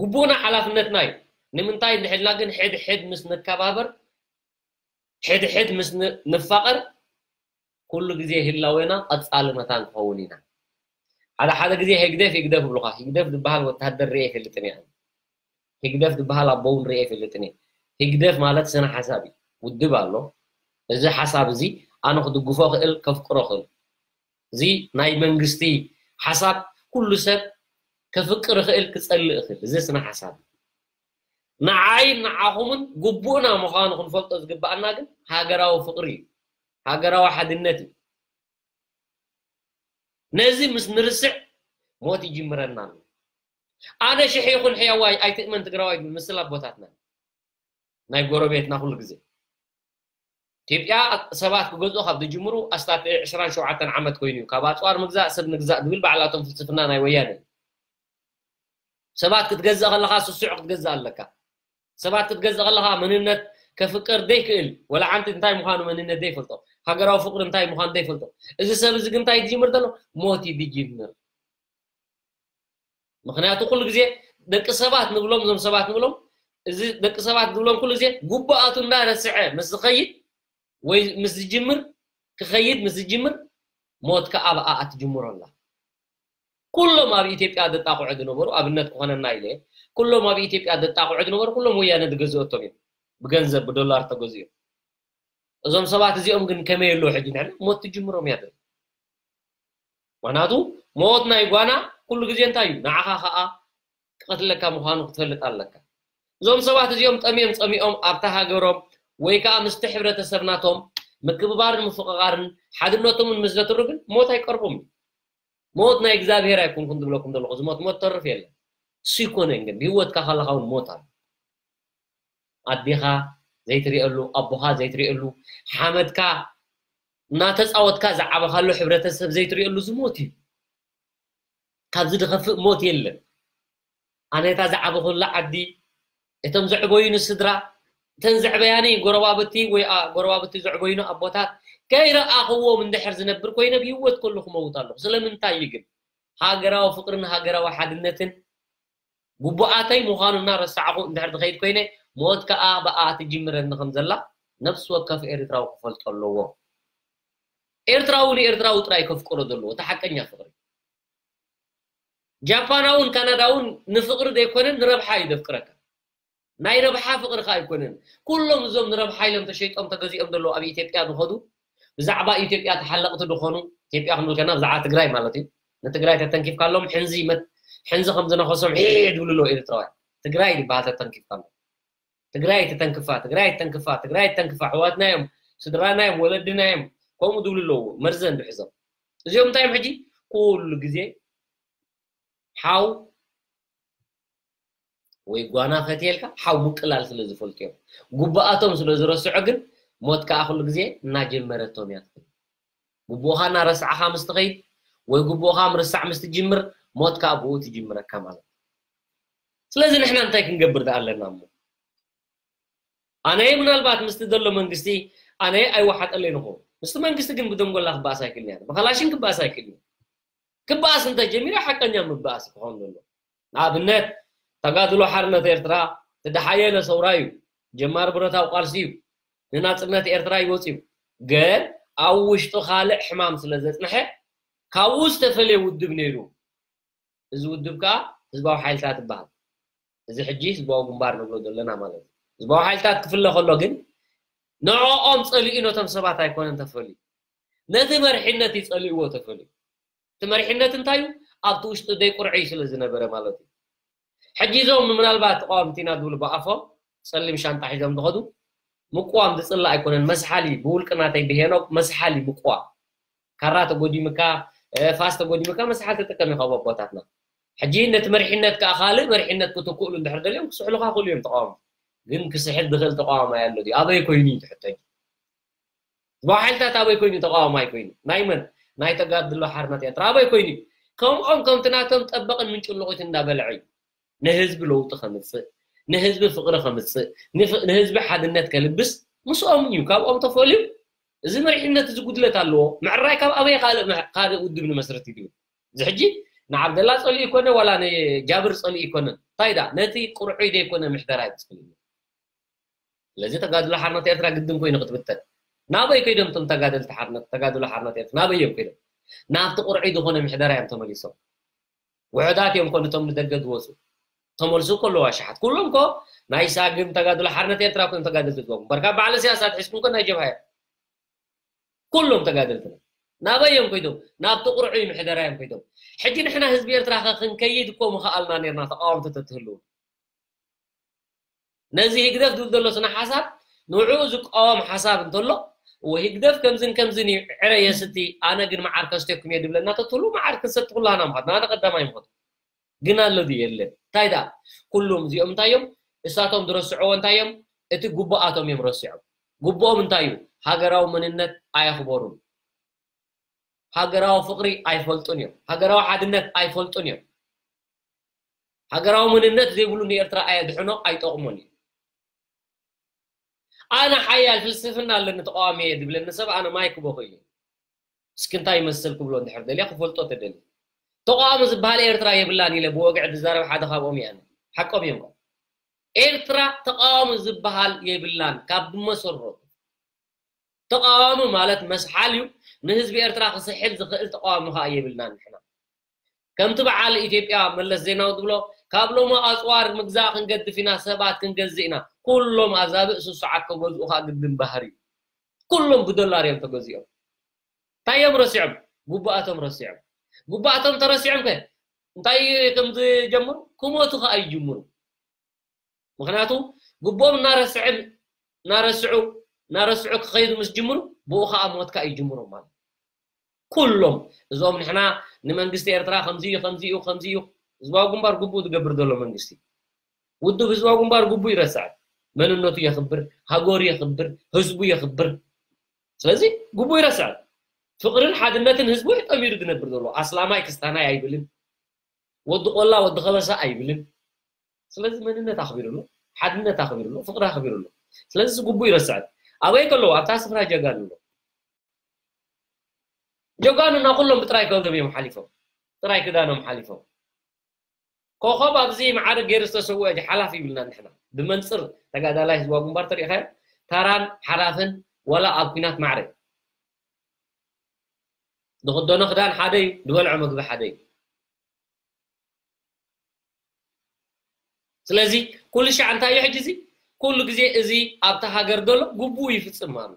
ግቡእና ሓላፍነትና እዩ ንምንታይ እንድሕልና ግን ሕድ ሕድ ምስ ንከባበር ሕድ ሕድ ምስ ንፋቐር ኩሉ ግዜ ህላዌና ቀፃሊ መታን ክኸውን ኢና ሓደ ሓደ ግዜ ህግደፍ ህግደፍ ይብሉካ ህግደፍ ዝበሃል ወታደር ርአ ይፈልጥን እየ ህግደፍ ዝበሃል ኣቦ እውን ርአ ይፈልጥን እየ ህግደፍ ማለት ስነ ሓሳብ እዩ ውድብ ኣሎ እዚ ሓሳብ እዚ ኣነ ክድግፎ ክእል ከፍቅሮ ክእል እዚ ናይ መንግስቲ ሓሳብ ኩሉ ሰብ ከፍቅር ክእል ክፀልእ ክእል እዚ ስነ ሓሳብ ንዓይ ንዓኹምን ግቡእና ምዃኑ ክንፈልጦ ዝግባኣና ግን ሃገራዊ ፍቅሪ እዩ ሃገራዊ ሓድነት እዩ ነዚ ምስ ንርስዕ ሞት ይጅምረና ኣሎ ኣነ ሽሕ ይኹን ሕያዋይ ኣይትእመን ትግራዋይ ዝብል ምስል ኣቦታትና ናይ ጎረቤትና ኩሉ ግዜ ኢትዮጵያ ሰባት ክገዝኡ ካብ ዝጅምሩ ኣስታት ዕስራን ሸውዓተን ዓመት ኮይኑ እዩ ካብ ኣፅዋር ምግዛእ ሰብ ንግዛእ ዝብል ባዕላቶም ፍልስፍና ናይ ወያነ ሰባት ክትገዝእ ከለካ ስሱዕ ክትገዝእ ኣለካ ሰባት ክትገዝእ ከለካ መንነት ከፍቅር ዘይክእል ወላ ሓንቲ እንታይ ምዃኑ መንነት ዘይፈልጦ ሃገራዊ ፍቅሪ እንታይ ምዃኑ ዘይፈልጦ እዚ ሰብ እዚ ግን እንታይ ዝጅምር ዘሎ ሞት እዩ ዝጅምር ምኽንያቱ ኩሉ ግዜ ደቂ ሰባት ንብሎም እዞም ሰባት ንብሎም እዚ ደቂ ሰባት ዝብሎም ኩሉ ግዜ ጉቡኣቱ እንዳረስዐ ምስ ዝኸይድ ወይ ምስ ዝጅምር ክኸይድ ምስ ዝጅምር ሞት ከዓ ኣብኣ ትጅምሮ ኣላ ኩሎም ኣብ ኢትዮጵያ ዘጣቕዑ ዝነበሩ ኣብነት ክኾነና ኢለ ኩሎም ኣብ ኢትዮጵያ ዘጣቕዑ ዝነበሩ ኩሎም ወያነ ዝገዝኦቶም እዮም ብገንዘብ ብዶላር ተገዝኦም እዞም ሰባት እዚኦም ግን ከመይ ኣለዉ ሕጂ ንሕና ሞት ትጅምሮም እያ ምክንያቱ ሞት ናይ ጓና ኩሉ ግዜ እንታይ እዩ ንዓኻ ከዓ ክቐትለካ ምዃኑ ክትፈልጥ ኣለካ እዞም ሰባት እዚኦም ጠምዮም ፀሚኦም ኣብታ ሃገሮም ወይ ከዓ ምስቲ ሕብረተሰብ ናቶም ምክብባርን ምፍቕቓርን ሓድነቶምን ምስ ዘትሩ ግን ሞት ኣይቀርቦም እዩ ሞት ናይ እግዚኣብሔር ኣይኮንኩን ዝብለኩም ዘለኹ ዝሞት ሞት ተርፍ የለን እሱ ይኮነን ግን ብህይወትካ ከለካ እውን ሞት ኣሎ ኣዴኻ ዘይትሪእሉ ኣቦኻ ዘይትሪእሉ ሓመድካ እናተፃወትካ ዝዓበኻሉ ሕብረተሰብ ዘይትሪእሉ ዝሞት እዩ ካብዚ ዝኸፍእ ሞት የለን ኣነ እታ ዝዓበኹላ ዓዲ እቶም ዘዕበዩኒ ስድራ እተን ዘዕበያኒ ጎረባብቲ ወይ ኣ- ጎረባብቲ ዘዕበዩኒ ኣቦታት ከይረኣኽዎም እንድሕር ዝነብር ኮይነ ብህይወት ከሉ ክመውት ኣለኹ። ስለምንታይ እዩ ግን? ሃገራዊ ፍቕርን ሃገራዊ ሓድነትን ግቡኣተይ ምዃኑ እናረሳዕኹ እንድሕር ዝኸይድ ኮይነ፣ ሞት ከኣ ብኣ ትጅምረኒ ከም ዘላ ነፍሲ ወከፍ ኤርትራዊ ክፈልጦ ኣለዎ። ኤርትራዊ ንኤርትራዊ ጥራይ ከፍቅሮ ዘለዎ እቲ ሓቀኛ ፍቕሪ። ጃፓናውን ካናዳውን ንፍቕሪ ዘይኮነን ንረብሓ እዩ ዘፍቅረካ። ናይ ረብሓ ፍቕሪ ከኣ ኣይኮነን። ኩሎም እዞም ንረብሓ ኢሎም ተሸይጦም ተገዚኦም ዘለዉ ኣብ ኢትዮጵያ ዝኸዱ ብዛዕባ ኢትዮጵያ ተሓለቕቲ ዝኾኑ ኢትዮጵያ ክንብል ከና ብዛዕባ ትግራይ ማለት እዩ። ንትግራይ ተተንኪፍካሎም ሕንዚ መት- ሕንዚ ከም ዝነኸሶም ዒዕ ዝብሉ ኣለዉ ኤርትራውያን። ትግራይ ዝበሃል ተተንኪፍካሎም ትግራይ ተተንክፋ ትግራይ ተንክፋ ትግራይ ተንክፋ ኣሕዋትና እዮም ስድራና እዮም ወለድና እዮም ከምኡ ዝብሉ ኣለዉ መርዘን ዝሕዞም እዚኦም እንታይ እዮም ሕጂ ኩሉ ግዜ ሓው ወይ ጓና ፈትየልካ ሓው ምቅላል ስለ ዝፈልጡ እዮም። ጉብኣቶም ስለ ዝረስዖ ግን ሞት ከዓ ኩሉ ግዜ እናጀመረቶም እያ ትኸይድ። ጉቡእኻ እናረሳዕኻ ምስ ትኸይድ ወይ ጉቡእኻ ምርሳዕ ምስ ትጅምር ሞት ከዓ ብኡ ትጅምረካ ማለት እዩ። ስለዚ ንሕና እንታይ ክንገብር ደኣ ኣለና እሞ ኣነየ ምናልባት ምስቲ ዘሎ መንግስቲ ኣነየ ኣይወሓጠለይ ንኹ ምስቲ መንግስቲ ግን ብደንጎላ ክበኣስ ኣይክእልን እያ ብኸላሽን ክበኣስ ኣይክእልን ክበኣስ እንተጀሚረ ሓቀኛ ምበኣስ ክኾን ዘሎ ንኣብነት ተጋድሎ ሓርነት ኤርትራ ትደሓየለ ሰውራ እዩ ጀማሪ ብረታዊ ቃልሲ እዩ ንናፅነት ኤርትራ ይወፅ እዩ ግን ኣብ ውሽጡ ካልእ ሕማም ስለ ዘፅንሐ ካብኡ ዝተፈለየ ውድብ ነይሩ እዚ ውድብ ከዓ ህዝባዊ ሓይልታት ይበሃል እዚ ሕጂ ህዝባዊ ግንባር ንብሎ ዘለና ማለት እዩ ህዝባዊ ሓይልታት ክፍለ ከሎ ግን ንዕኦም ፀሊኡ ነቶም ሰባት ኣይኮነን ተፈልዩ ነቲ መርሒነት እዩ ፀሊእዎ ተፈልዩ እቲ መሪሕነት እንታይ እዩ ኣብቲ ውሽጢ ደይ ቁርዒ ስለ ዝነበረ ማለት እዩ ሕጂ እዞም ምናልባት ተቃወምቲ ኢና ዝብሉ ብኣፎም ፀሊም ሻንጣ ሒዞም ዝኸዱ ምቅዋም ዝፅላእ ኣይኮነን መስሓሊ ብውልቂ ናተይ ብሄኖክ መስሓሊ ምቅዋም ካራ ተጎዲምካ ፋስ ተጎዲምካ መስሓል ትጥቀም ኢኻ ኣቦታትና ሕጂ ነቲ መሪሕነት ከዓ ካልእ መሪሕነት ክትክእሉ እንድሕር ደልዮም ክስሕሉካ ክእሉ እዮም ተቃወምቲ ግን ክስሕል ዝኽእል ተቃዋማይ ኣሎ ድዩ ኣበይ ኮይኑ እዩ ትሕተኝ ህዝባዊ ሓይልታት ኣበይ ኮይኑ ተቃዋማይ ኮይኑ ናይ መን ናይ ተጋድሎ ሓርነት ኤርትራ ኣበይ ኮይኑ ከምኦም ከምቲ ናቶም ጠበቕን ምንጭልቑት እንዳበልዐ እዩ ንህዝቢ ለውጢ ከምፅእ ንህዝቢ ፍቕሪ ከምፅእ ንህዝቢ ሓድነት ከልብስ ምስኦም እዩ ካብኦም ተፈልዩ እዚ መሪሕነት እዚ ጉድለት ኣለዎ ምዕራይ ካብ ኣበይ ካልእ ካልእ ውድብ ንመስርት እዩ እዚ ሕጂ ንዓብደላ ፀሊኡ ይኮነ ዋላ ንጃብር ፀሊኡ ይኮነ እንታይ ዳ ነቲ ቁርዑይ ዘይኮነ ምሕደራ ይትኽእል ስለዚ ተጋድሎ ሓርነት ኤርትራ ግድን ኮይኑ ክትብተን ናበይ ከይዶም እቶም ተጋደልቲ ሓርነት ተጋድሎ ሓርነት ኤርትራ ናበይ እዮም ከይዶም ናብቲ ቁርዒ ዝኾነ ምሕደራ እዮም ተመሊሶም ውሕዳት እዮም ኮ ነቶም ንደገ ዝወፁ ተመልሱ ከለዉ ኣሽሓት ኩሎም ኮ ናይ ሳግም ተጋድሎ ሓርነት ኤርትራ ኮይኖም ተጋደልቲ ዝወጉ እምበርካ በዓል ስያሳት ሒዝኩም ኮ ናይ ጀብሃ እዮም ኩሎም ተጋደልትና ናበይ እዮም ኮይዶም ናብቲ ቁርዑ ምሕደራ እዮም ኮይዶም ሕጂ ንሕና ህዝቢ ኤርትራ ከ ክንከይድ እኮ ምኸኣልና ነርና ተቃወምቲ ተትህልው ነዚ ህግደፍ ዝብል ዘሎ ስነ ሓሳብ ንዕኡ ዝቃወም ሓሳብ እንተሎ እወ ህግደፍ ከምዝን ከምዝን እዩ ዕረ የስቲ ኣነ ግን መዓር ከስቴኩም እየ ዝብለና ተትህሉ መዓር ክንሰቲ ኩላና ምኻድ ኣነ ቀዳማይ ምኾት ግን ኣሎ ድዩ የለን እንታይ ደኣ ኩሎም እዚኦም እንታይ እዮም እሳቶም ዝረስዕዎ እንታይ እዮም እቲ ጉቡኣቶም እዮም ረሲዖም ጉቡኦም እንታይ እዩ ሃገራዊ መንነት ኣየኽበሩን ሃገራዊ ፍቕሪ ኣይፈልጡን እዮም ሃገራዊ ሓድነት ኣይፈልጡን እዮም ሃገራዊ መንነት ዘይብሉ ንኤርትራ ኣየድሕኖ ኣይጠቕሞን እዩ ኣነ ሓያል ፍልስፍና ኣለኒ ተቃዋሚ እየ ዝብለኒ ሰብ ኣነ ማይ ክቦኹ እዩ እስኪ እንታይ ይመስል ክብሎ እንድሕር ደልየ ክፈልጦ ተደልየ ተቃዋሚ ዝበሃል ኤርትራ የብላን ኢለ ብወግዒ ዝዛረብ ሓደ ካብኦም እየ ኣነ ሓቆም እዮም ኤርትራ ተቃዋሚ ዝበሃል የብላን ካብ ዝመሰረቱ ተቃዋሚ ማለት መስሓል እዩ ንህዝቢ ኤርትራ ክስሕል ዝኽእል ተቃዋሚ ከዓ የብልናን ንሕና ከምቲ በዓል ኢትዮጵያ መለስ ዜናዊ ዝብሎ ካብ ሎሚ ኣፅዋር ምግዛእ ክንገድፍ ኢና ሰባት ክንገዝእ ኢና ኩሎም ኣዛብእ ስሱዓት ከገዝኡ ከዓ ግድን ባህር እዩ ኩሎም ብዶላር እዮም ተገዚኦም እንታይ እዮም ረሲዖም ጉቡኣቶም ረሲዖም ጉቡኣቶም ተረሲዖም ከ እንታይ ከም ዝጀምሩ ክሞቱ ከዓ ይጅምሩ ምክንያቱ ግቡኦም እናረስዕን እናረስዑ እናረስዑ ክኸይዱ ምስ ጅምሩ ብኡ ከዓ ሞትካ ይጅምሩ ማለት ኩሎም እዞም ንሕና ንመንግስቲ ኤርትራ ከምዚ እዩ ከምዚ እዩ ከምዚ እዩ ህዝባዊ ግንባር ግቡእ ዝገብር ዘሎ መንግስቲ ውድብ ህዝባዊ ግንባር ግቡእ ይረስዕ መንነቱ የኽብር ሃገሩ የኽብር ህዝቡ የኽብር ስለዚ ግቡእ ይረስዕ ፍቕርን ሓድነትን ህዝቡ ጠሚሩ ዝነብር ዘሎ ኣስላማይ ክስታናይ ኣይብልን ወዲ ቆላ ወዲ ከበሳ ኣይብልን ስለዚ መንነት ኣኽቢሩ ኣሎ ሓድነት ኣኽቢሩ ኣሎ ፍቕሪ ኣኽቢሩ ኣሎ ስለዚ እዚ ግቡእ ይረስዐ። ኣበይ ከለዉ ኣብታ ስፍራ ጀጋኑ ኣሎ። ጀጋኑና ኩሎም ብጥራይ ክዳኖም እዮም ሓሊፎም፣ ጥራይ ክዳኖም ሓሊፎም። ኮኸብ ኣብዚ ማዕረ ገይሩ ዝተሰወአ ሓላፍ ይብልና ንሕና። ብመንፅር ተጋዳላይ ህዝባዊ ግንባር ተሪኢኻዮ፣ ተራን ሓላፍን ዋላ ኣብ ኲናት ማዕረ ዝኽደኖ ክዳን ሓደ እዩ፣ ዝበልዖ ምግቢ ሓደ እዩ። ስለዚ ኩሉ ሻዕ እንታይ እዩ ሕጂ እዚ? ኩሉ ግዜ እዚ ኣብታ ሃገር ዘሎ ግቡኡ ይፍጽም ኣሎ።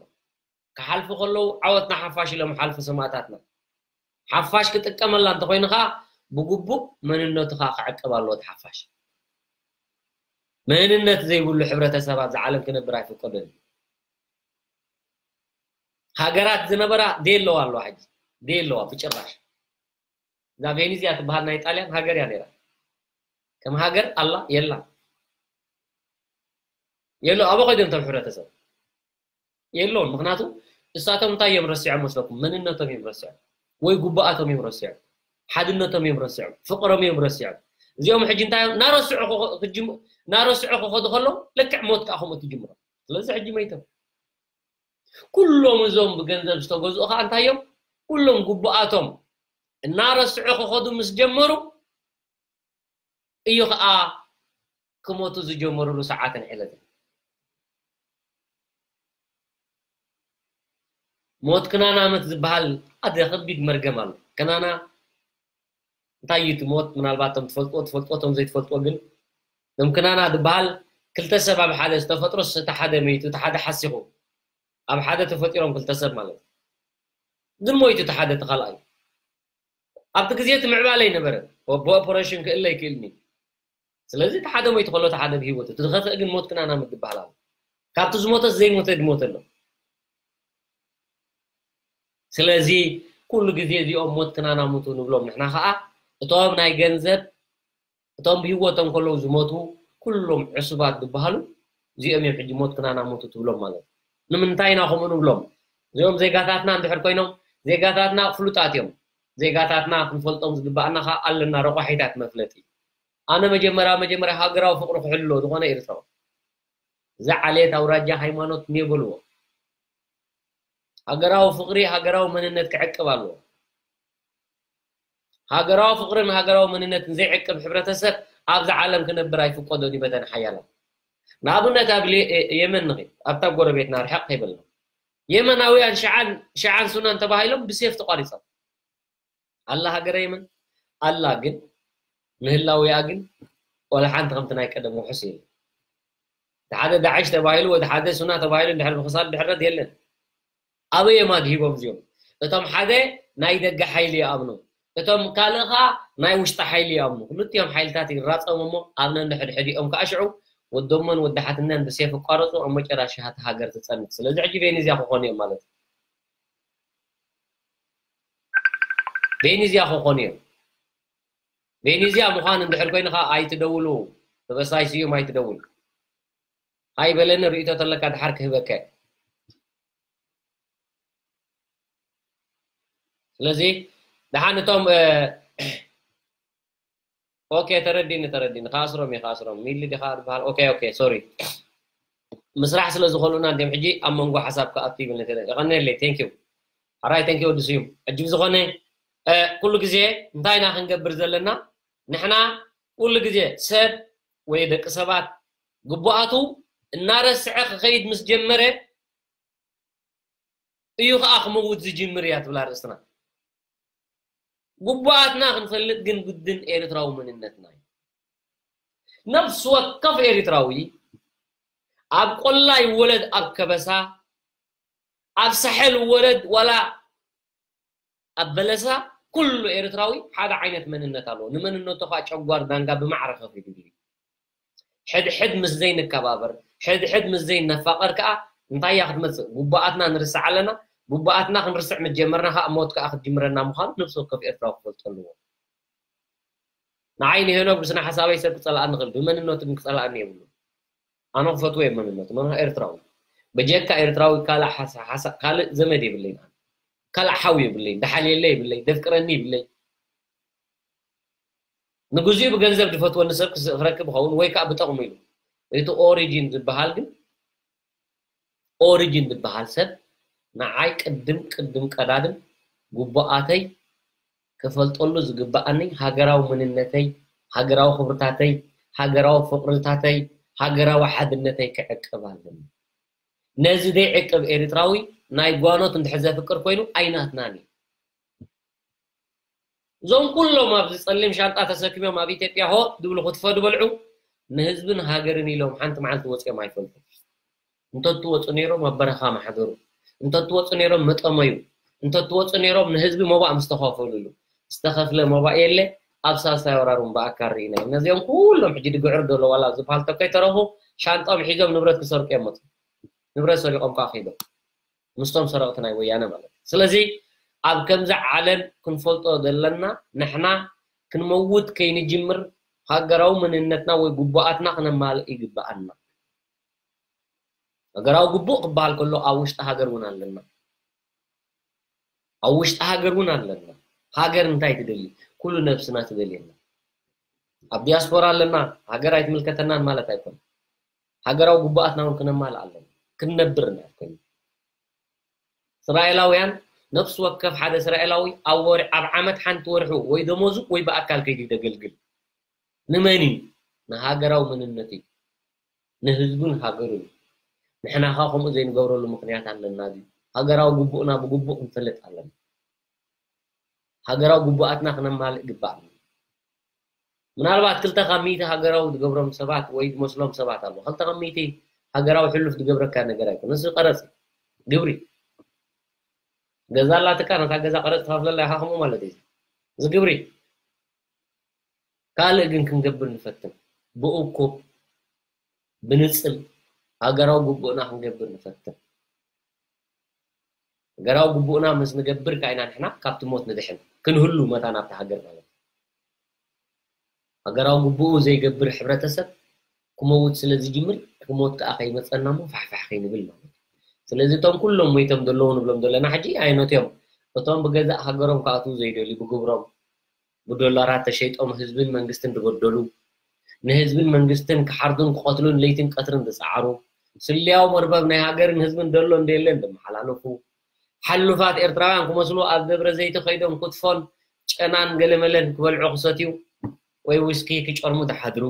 ክሓልፉ ከለዉ ዓወትና ሓፋሽ ኢሎም ሓልፉ ሰማእታትና። ሓፋሽ ክጥቀመላ እንተኾይኑ ኸዓ ብግቡእ መንነቱ ኸዓ ክዕቀብ ኣለዎ። እቲ ሓፋሽ መንነት ዘይብሉ ሕብረተሰብ ኣብዚ ዓለም ክነብር ኣይፍቀዶን እዩ። ሃገራት ዝነበራ ደየለዋ ኣለዋ፣ ሕጂ ደየለዋ ብጭራሽ። እዛ ቬኒዝያ ትበሃል ናይ ጣልያን ሃገር እያ ነይራ። ከም ሃገር ኣላ የላ የሎ። ኣበ ኮይዶም እቶም ሕብረተሰብ የለውን። ምክንያቱ እሳቶም እንታይ እዮም ረሲዖም መስለኩም? መንነቶም እዮም ረሲዖም፣ ወይ ጉባኣቶም እዮም ረሲዖም፣ ሓድነቶም እዮም ረሲዖም፣ ፍቅሮም እዮም ረሲዖም። እዚኦም ሕጂ እንታይ እዮም እናረስዑ ክኸ- ክጅም- እናረስዑ ክኸዱ ከለዉ ልክዕ ሞት ከዓ ከምኡ ትጅምሮም። ስለዚ ሕጂ መይቶም ኩሎም እዞም ብገንዘብ ዝተገዝኡ ከዓ እንታይ እዮም? ኩሎም ጉባኣቶም እናረስዑ ክኸዱ ምስ ጀመሩ እዩ ከዓ ክሞቱ ዝጀመሩሉ ሰዓትን ዕለትን። ሞት ክናናምት ዝበሃል ኣደ ከቢድ መርገም ኣሎ። ክናና እንታይ እዩ እቲ ሞት? ምናልባት እቶም ትፈልጥዎ ትፈልጥዎ፣ እቶም ዘይትፈልጥዎ ግን፣ እቶም ክናና ዝበሃል ክልተ ሰብ ኣብ ሓደ ዝተፈጥሮስ፣ እቲ ሓደ መይቱ፣ እቲ ሓደ ሓሲኹ፣ ኣብ ሓደ ተፈጢሮም ክልተ ሰብ ማለት እዩ። ግን ሞይቱ እቲ ሓደ፣ እቲ ካልኣይ ኣብቲ ግዜ እቲ ምዕባለ ኣይነበረን። ብ-፣ ብኦፐሬሽን ክእለ ኣይክእልን እዩ። ስለዚ እቲ ሓደ ሞይቱ ከሎ እቲ ሓደ ብህይወት፣ እቲ ዝኸፍእ ግን ሞት ክናናምት ዝበሃል ኣሎ። ካብቲ ዝሞተስ ዘይሞተ ድሞተ ኣሎ። ስለዚ ኩሉ ግዜ እዚኦም ሞት ክናናምቱ ንብሎም ንሕና ኸዓ፣ እቶም ናይ ገንዘብ፣ እቶም ብህይወቶም ከለዉ ዝሞቱ ኩሎም ዕሱባት ዝበሃሉ እዚኦም እዮም ሕጂ ሞት ክናናምቱ ትብሎም ማለት እዩ። ንምንታይ ኢና ከምኡ ንብሎም? እዚኦም ዜጋታትና እንድሕር ኮይኖም፣ ዜጋታትና ፍሉጣት እዮም። ዜጋታትና ክንፈልጦም ዝግባኣና ኸዓ ኣለና ረቋሒታት መፍለጢ። ኣነ መጀመርያ መጀመርያ ሃገራዊ ፍቅሪ ክሕልዎ ዝኾነ ኤርትራዊ፣ እዛ ዓሌት፣ ኣውራጃ፣ ሃይማኖት እኒኦ በልዎ። ሃገራዊ ፍቅሪ፣ ሃገራዊ መንነት ክዕቅብ ኣለዎ። ሃገራዊ ፍቅርን ሃገራዊ መንነትን ዘይዕቅብ ሕብረተሰብ ኣብዛ ዓለም ክነብር ኣይፍቀዶን እዩ በተን ሓያላት። ንኣብነት ኣብ ሌ-፣ የመን ንኺድ፣ ኣብታ ጎረቤትና ርሕቕ ከይበልና። የመናውያን ሽዓን፣ ሽዓን ሱናን ተባሂሎም ብሴፍ ተቋሪጾም። ኣላ ሃገረ የመን ኣላ፣ ግን ምህላውያ ግን ወላ ሓንቲ ከምቲ ናይ ቀደም ውሑስ የለን። እቲ ሓደ ዳዕሽ ተባሂሉ፣ ወዲ ሓደ ሱና ተባሂሉ እንድሕር ብክሳድ ድሕረት የለን። ኣበይ እዮም ኣድሂቦም እዚኦም? እቶም ሓደ ናይ ደገ ሓይሊ ይኣምኑ፣ እቶም ካልእ ኸዓ ናይ ውሽጢ ሓይሊ ይኣምኑ። ክልቲኦም ሓይልታት ይራጸሙ እሞ ኣብ ነንሕድሕዲኦም ከዓ ሽዑ ወዶሞን ወዲ ሓትነን ብሴፍ ይቋረጹ፣ ኣብ መጨረሻ እታ ሃገር ትጸንት። ስለዚ ሕጂ ቬኔዝያ ክኾኑ እዮም ማለት እዩ። ቬኔዝያ ክኾኑ እዮም። ቬኔዝያ ምዃን እንድሕር ኮይኑ ኸዓ ኣይትደውሉ፣ ተበሳይ ስዩም ኣይትደውል። ሃይ በለኒ፣ ርእይቶ ተለካ ድሓር ክህበካ። ስለዚ ደሓን እቶም፣ እ፣ ኦኬ፣ ተረዲኒ፣ ተረዲኒ። ክኣስሮም እየ፣ ክኣስሮም። ሚሊ ዲኻ ዝበሃል? ኦኬ፣ ኦኬ፣ ሶሪ። ምስራሕ ስለ ዝኸልኡና እንዲዮም ሕጂ ኣብ መንጎ ሓሳብ ክኣቱ ይብል ነተ-፣ የቐንየለይ፣ ቴንክ ዩ። ሓራይ፣ ቴንክ ዩ ወዲ ስዩም። ሕጂ ብዝኾነ፣ እ፣ ኩሉ ግዜ እንታይ ኢና ክንገብር ዘለና? ንሕና ኩሉ ግዜ ሰብ ወይ ደቂ ሰባት ግቡኣቱ እናረስዐ ክኸይድ ምስ ጀመረ እዩ ኸዓ ክመውት ዝጅምር እያ ትብል ኣርእስትና። ግቡኣትና ክንፈልጥ ግን ግድን ኤርትራዊ መንነትና እዩ። ነፍሲ ወከፍ ኤርትራዊ ኣብ ቆላ ይወለድ ኣብ ከበሳ፣ ኣብ ሳሕል ይወለድ ዋላ ኣብ በለሳ፣ ኩሉ ኤርትራዊ ሓደ ዓይነት መንነት ኣለዎ። ንመንነቱ ኸዓ ጨጓር ዳንጋ ብማዕረ ከፊሉ እዩ። ሕድሕድ ምስ ዘይንከባበር፣ ሕድሕድ ምስ ዘይነፋቐር ከኣ እንታይ እያ ክትመጽእ? ጉባኣትና ንርስዕ ኣለና። ጉባኣትና ክንርስዕ ምስ ጀመርና ከኣ ሞት ከኣ ክትጅምረና ምዃኑ ነፍሲ ወከፍ ኤርትራዊ ክፈልጦ ኣለዎ። ንዓይ ንሄኖክ ብስነ ሓሳበይ ሰብ ክጸልኣኒ ይኽእል፣ ብመንነቱ ግን ክጸልኣኒ የብሉን። ኣነ ክፈትዎ እየ መንነቱ፣ መን ኤርትራዊ። በጀካ ኤርትራዊ ካልእ ሓሳ-፣ ሓሳ-፣ ካልእ ዘመድ የብለይን ኣነ። ካልእ ሓው የብለይን፣ ደሓልየለ የብለይ፣ ደፍቅረኒ የብለይ። ንግዚኡ ብገንዘብ ዝፈትወኒ ሰብ ክስ-፣ ክረክብ ይኸውን ወይ ከኣ ብጠቕሙ ኢሉ። እቲ ኦሪጂን ዝበሃል ግን ኦሪጅን ዝበሃል ሰብ ንዓይ ቅድም ቅድም ቀዳድም ግቡኣተይ ክፈልጠሉ ዝግበኣኒ ሃገራዊ መንነተይ፣ ሃገራዊ ክብርታተይ፣ ሃገራዊ ፍቕርታተይ፣ ሃገራዊ ሓድነተይ ክዕቅብ ኣለኒ። ነዚ ዘይዕቅብ ኤርትራዊ ናይ ጓኖት እንድሕር ዘፍቅር ኮይኑ ኣይናትናን እዩ። እዞም ኩሎም ኣብዚ ጸሊም ሻንጣ ተሰኪሞም ኣብ ኢትዮጵያ ሆ ድብሉ ክትፎ ድበልዑ ንህዝብን ሃገርን ኢሎም ሓንቲ መዓልቲ ወፂኦም ኣይፈልጡ። እንተትወፁ ነይሮም ኣብ በረኻ ማሕደሩ፣ እንተትወፁ ነይሮም መጠመዩ፣ እንተትወፁ ነይሮም ንህዝቢ መባእ ምስተኸፈልሉ። ዝተኸፍለ መባእ የለ። ኣብ ሳልሳይ ወራር እውን ብኣካል ርኢና ኢና። ነዚኦም ኩሎም ሕጂ ድግዕር ዘሎ ዋላ ኣብዚ ፓልቶክ ከይተረፉ ሻንጣኦም ሒዞም ንብረት ክሰርቁ እዮም መፁ። ንብረት ሰሪቆም ከዓ ከይዶም ምስቶም ሰረቕቲ ናይ ወያነ ማለት እዩ። ስለዚ ኣብ ከምዚ ዓለም ክንፈልጦ ዘለና ንሕና ክንመውት ከይንጅምር ሃገራዊ መንነትና ወይ ግቡኣትና ክነማልእ ይግበኣና። ሃገራዊ ግቡእ ክበሃል ከሎ ኣብ ውሽጢ ሃገር እውን ኣለና። ኣብ ውሽጢ ሃገር እውን ኣለና። ሃገር እንታይ ትደሊ? ኩሉ ነብስና ትደልየና። ኣብ ዲያስፖራ ኣለና፣ ሃገር ኣይትምልከተናን ማለት ኣይኮነን። ሃገራዊ ግቡኣትና እውን ክነማልእ ኣለና። ክንነብር ኢና ኮይኑ። እስራኤላውያን ነፍሲ ወከፍ ሓደ እስራኤላዊ ኣብ ወር ኣብ ዓመት ሓንቲ ወርሑ ወይ ደሞዙ ወይ ብኣካል ከይዱ ደገልግል። ንመን እዩ? ንሃገራዊ መንነት እዩ። ንህዝቡን ሃገሩን እዩ። ንሕና ኸ ከምኡ ዘይንገብረሉ ምኽንያት ኣለና ድዩ? ሃገራዊ ግቡእና ብግቡእ ክንፈልጥ ኣለና። ሃገራዊ ግቡኣትና ክነማልእ ግባእና። ምናልባት ክልተ ካብ ሚእቲ ሃገራዊ ዝገብሮም ሰባት ወይ ዝመስሎም ሰባት ኣለዉ። ክልተ ካብ ሚእቲ ሃገራዊ ሕሉፍ ዝገብረካ ነገር ኣይኮነ። እዚ ቀረጽ እዩ። ግብሪ። ገዛ ኣላትካ፣ ነታ ገዛ ቀረጽ ትኸፍለላ ኢኻ፣ ከምኡ ማለት እዩ። እዚ ግብሪ። ካልእ ግን ክንገብር ንፈትን። ብእኩብ፣ ብንጽል፣ ሃገራዊ ግቡእና ክንገብር ንፈትን። ሃገራዊ ግቡእና ምስ ንገብር ከኣ ኢና ንሕና ካብቲ ሞት ንድሕን። ክንህሉ መታን ኣብታ ሃገር ማለት እዩ። ሃገራዊ ግቡኡ ዘይገብር ሕብረተሰብ ክመውት ስለ ዝጅምር፣ እቲ ሞት ከኣ ከይመጸና እሞ ፋሕፋሕ ከይንብል ማለት እዩ። ስለዚ እቶም ኩሎም ሞይቶም ዘለዉ ንብሎም ዘለና ሕጂ ኣየኖት እዮም? እቶም ብገዛእ ሃገሮም ክኣትዉ ዘይደልዩ፣ ብግብሮም፣ ብዶላራት ተሸይጦም ህዝብን መንግስትን ዝበደሉ፣ ንህዝብን መንግስትን ክሓርዱን ክቐትሉን ለይትን ቀትርን ዝጸዓሩ፣ ስለያዊ መርበብ ናይ ሃገርን ህዝብን ደሎ እንደየለን ዘመሓላለፉ፣ ሓሉፋት ኤርትራውያን ክመስሉ ኣብ ደብረ ዘይቲ ከይዶም ክትፎን ጨናን ገለመለን ክበልዑ ክሰትዩ ወይ ዊስኪ ክጨርሙ ዝሓድሩ፣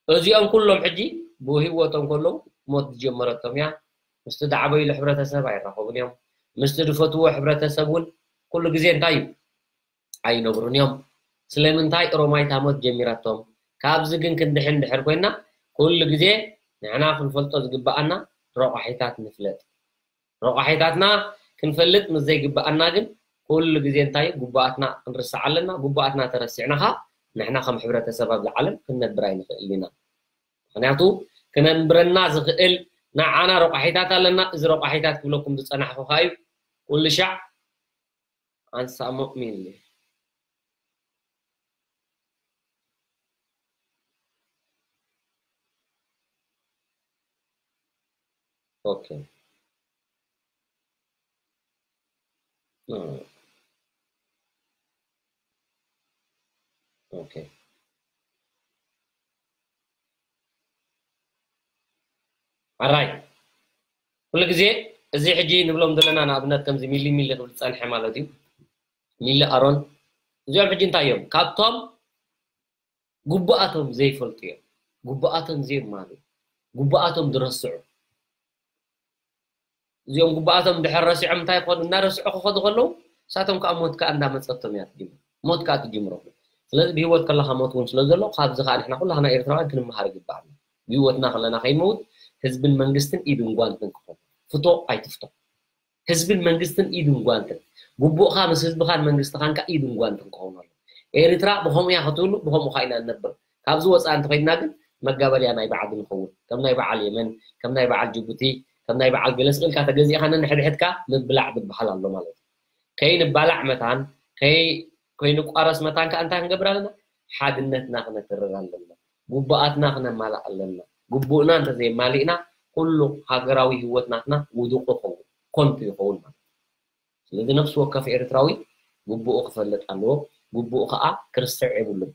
እዚኦም ኩሎም ሕጂ ብህይወቶም ከለዉ ሞት ዝጀመረቶም እያ። ምስቲ ዝዓበይሉ ሕብረተሰብ ኣይራኸቡን እዮም። ምስቲ ዝፈትዎ ሕብረተሰብ እውን ኩሉ ግዜ እንታይ እዩ? ኣይነብሩን እዮም። ስለምንታይ ሮማይት ሃሞት ጀሚራቶም? ካብዚ ግን ክንድሕን ድሕር ኮይና ኩሉ ግዜ ንሕና ክንፈልጦ ዝግበኣና ረቋሒታት ንፍለጥ። ረቋሒታትና ክንፈልጥ ምስ ዘይግበኣና ግን ኩሉ ግዜ እንታይ እዩ? ግቡኣትና ክንርስዕ ኣለና። ግቡኣትና ተረሲዕና ኸኣ ንሕና ከም ሕብረተሰብ ኣብዚ ዓለም ክንነብር ኣይንኽእልን ኢና። ምኽንያቱ ክነንብረና ዝኽእል ንዓና ረቋሒታት ኣለና። እዚ ረቋሒታት ክብለኩም ዝጸናሕኩ ኸኣ እዩ ኩሉ ሻዕ ኣንሳሞ ሚሊ። ኦኬ። እ። ኦኬ። ኣራይ። ኩሉ ግዜ እዚ ሕጂ ንብሎም ዘለና ንኣብነት ከምዚ ሚሊ ሚሊ ክብል ዝጸንሐ ማለት እዩ። ሚሊ ኣሮን። እዚኦም ሕጂ እንታይ እዮም? ካብቶም ግቡኣቶም ዘይፈልጡ እዮም። ግቡኣቶም ዘየማልኡ። ግቡኣቶም ዝረስዑ። እዚኦም ግቡኣቶም ድሕር ረሲዖም እንታይ ክኾኑ? እናረስዑ ክኸዱ ከለዉ ንሳቶም ከዓ ሞት ከዓ እንዳመጸቶም እያ ትጅምር። ሞት ከዓ ትጅምሮም። ስለዚ ብህይወት ከለኻ ሞት እውን ስለ ዘሎ ካብዚ ከዓ ንሕና ኩላህና ኤርትራውያን ክንመሃር ይግባኣና። ብህይወትና ከለና ከይንመውት ህዝብን መንግስትን ኢድን ጓንትን ክኾኑ። ፍቶ ኣይትፍቶ። ህዝብን መንግስትን ኢድን ጓንትን። ግቡእኻ ምስ ህዝብኻን መንግስትኻን ከኣ ኢድን ጓንትን ክኸውን ኣለዎ። ኤርትራ ብኸምኡ እያ ክትህሉ፣ ብኸምኡ ኸኣ ኢና ንነብር። ካብዚ ወፃኢ እንተኸይድና ግን መጋበርያ ናይ በዓል ንኸውን። ከም ናይ በዓል የመን፣ ከም ናይ በዓል ጅቡቲ፣ ከም ናይ በዓል ገለ ስቕ ኢልካ ተገዚእካ ነንሕድሕድካ ምብላዕ ዝበሃል ኣሎ ማለት እዩ። ከይንባላዕ መታን፣ ከይ-፣ ከይንቋረስ መታን ከኣ እንታይ ክንገብር ኣለና? ሓድነትና ክነትርር ኣለና። ግቡኣትና ክነማልእ ኣለና። ግቡእና እንተዘየማሊእና ኩሉ ሃገራዊ ህይወት ናትና ውዱቕ ይኸውን፣ ኮንቱ ይኸውን ማለት እዩ። ስለዚ ነፍሲ ወከፍ ኤርትራዊ ግቡኡ ክፈልጥ ኣለዎ። ግቡኡ ከኣ ክርስዕ የብሉን።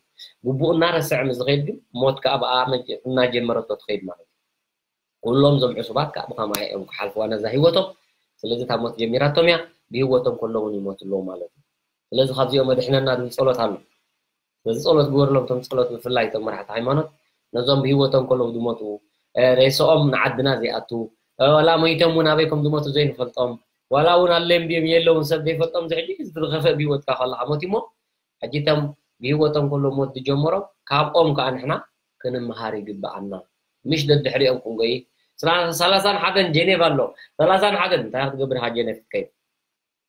ግቡኡ እናረስዐ ምስ ዝኸይድ ግን ሞት ከኣ ብኣ መጀ-፣ እናጀመረቶ ትኸይድ ማለት እዩ። ኩሎም ዞም ዕሱባት ከዓ ብኸማይ እዮም ክሓልፍዋ ነዛ ህይወቶም። ስለዚ እታ ሞት ጀሚራቶም እያ፣ ብህይወቶም ከለውን ይሞቱ ኣለዉ ማለት እዩ። ስለዚ ካብዚኦም ኣድሕነና ዝብል ጸሎት ኣሎ። ስለዚ ጸሎት ግበርሎም፣ እቶም ጸሎት ብፍላይ እቶም መራሕቲ ሃይማኖት ነዞም ብህይወቶም ከለዉ ዝሞቱ፣ እ፣ ሬስኦም ንዓድና ዘይኣቱ፣ እ፣ ዋላ ሞይቶም እውን ኣበይ ከም ዝሞቱ ዘይንፈልጦም፣ ዋላ እውን ኣለም ድዮም የለውን ሰብ ዘይፈልጦም፣ እዚ ሕጂ ዝኸፍእ ብህይወትካ ከለኻ ሞት እሞ ሕጂ እቶም ብህይወቶም ከለዉ ሞት ዝጀመሮም ካብኦም ከዓ ንሕና ክንምሃር ይግብኣና። ምሽ ደድሕሪኦም ክንጎይ። ስራ-፣ ሰላሳን ሓደን ጀኔቭ ኣሎ። ሰላሳን ሓደን እንታይ ክትገብር ኢኻ ጀኔቭ ክትከይድ?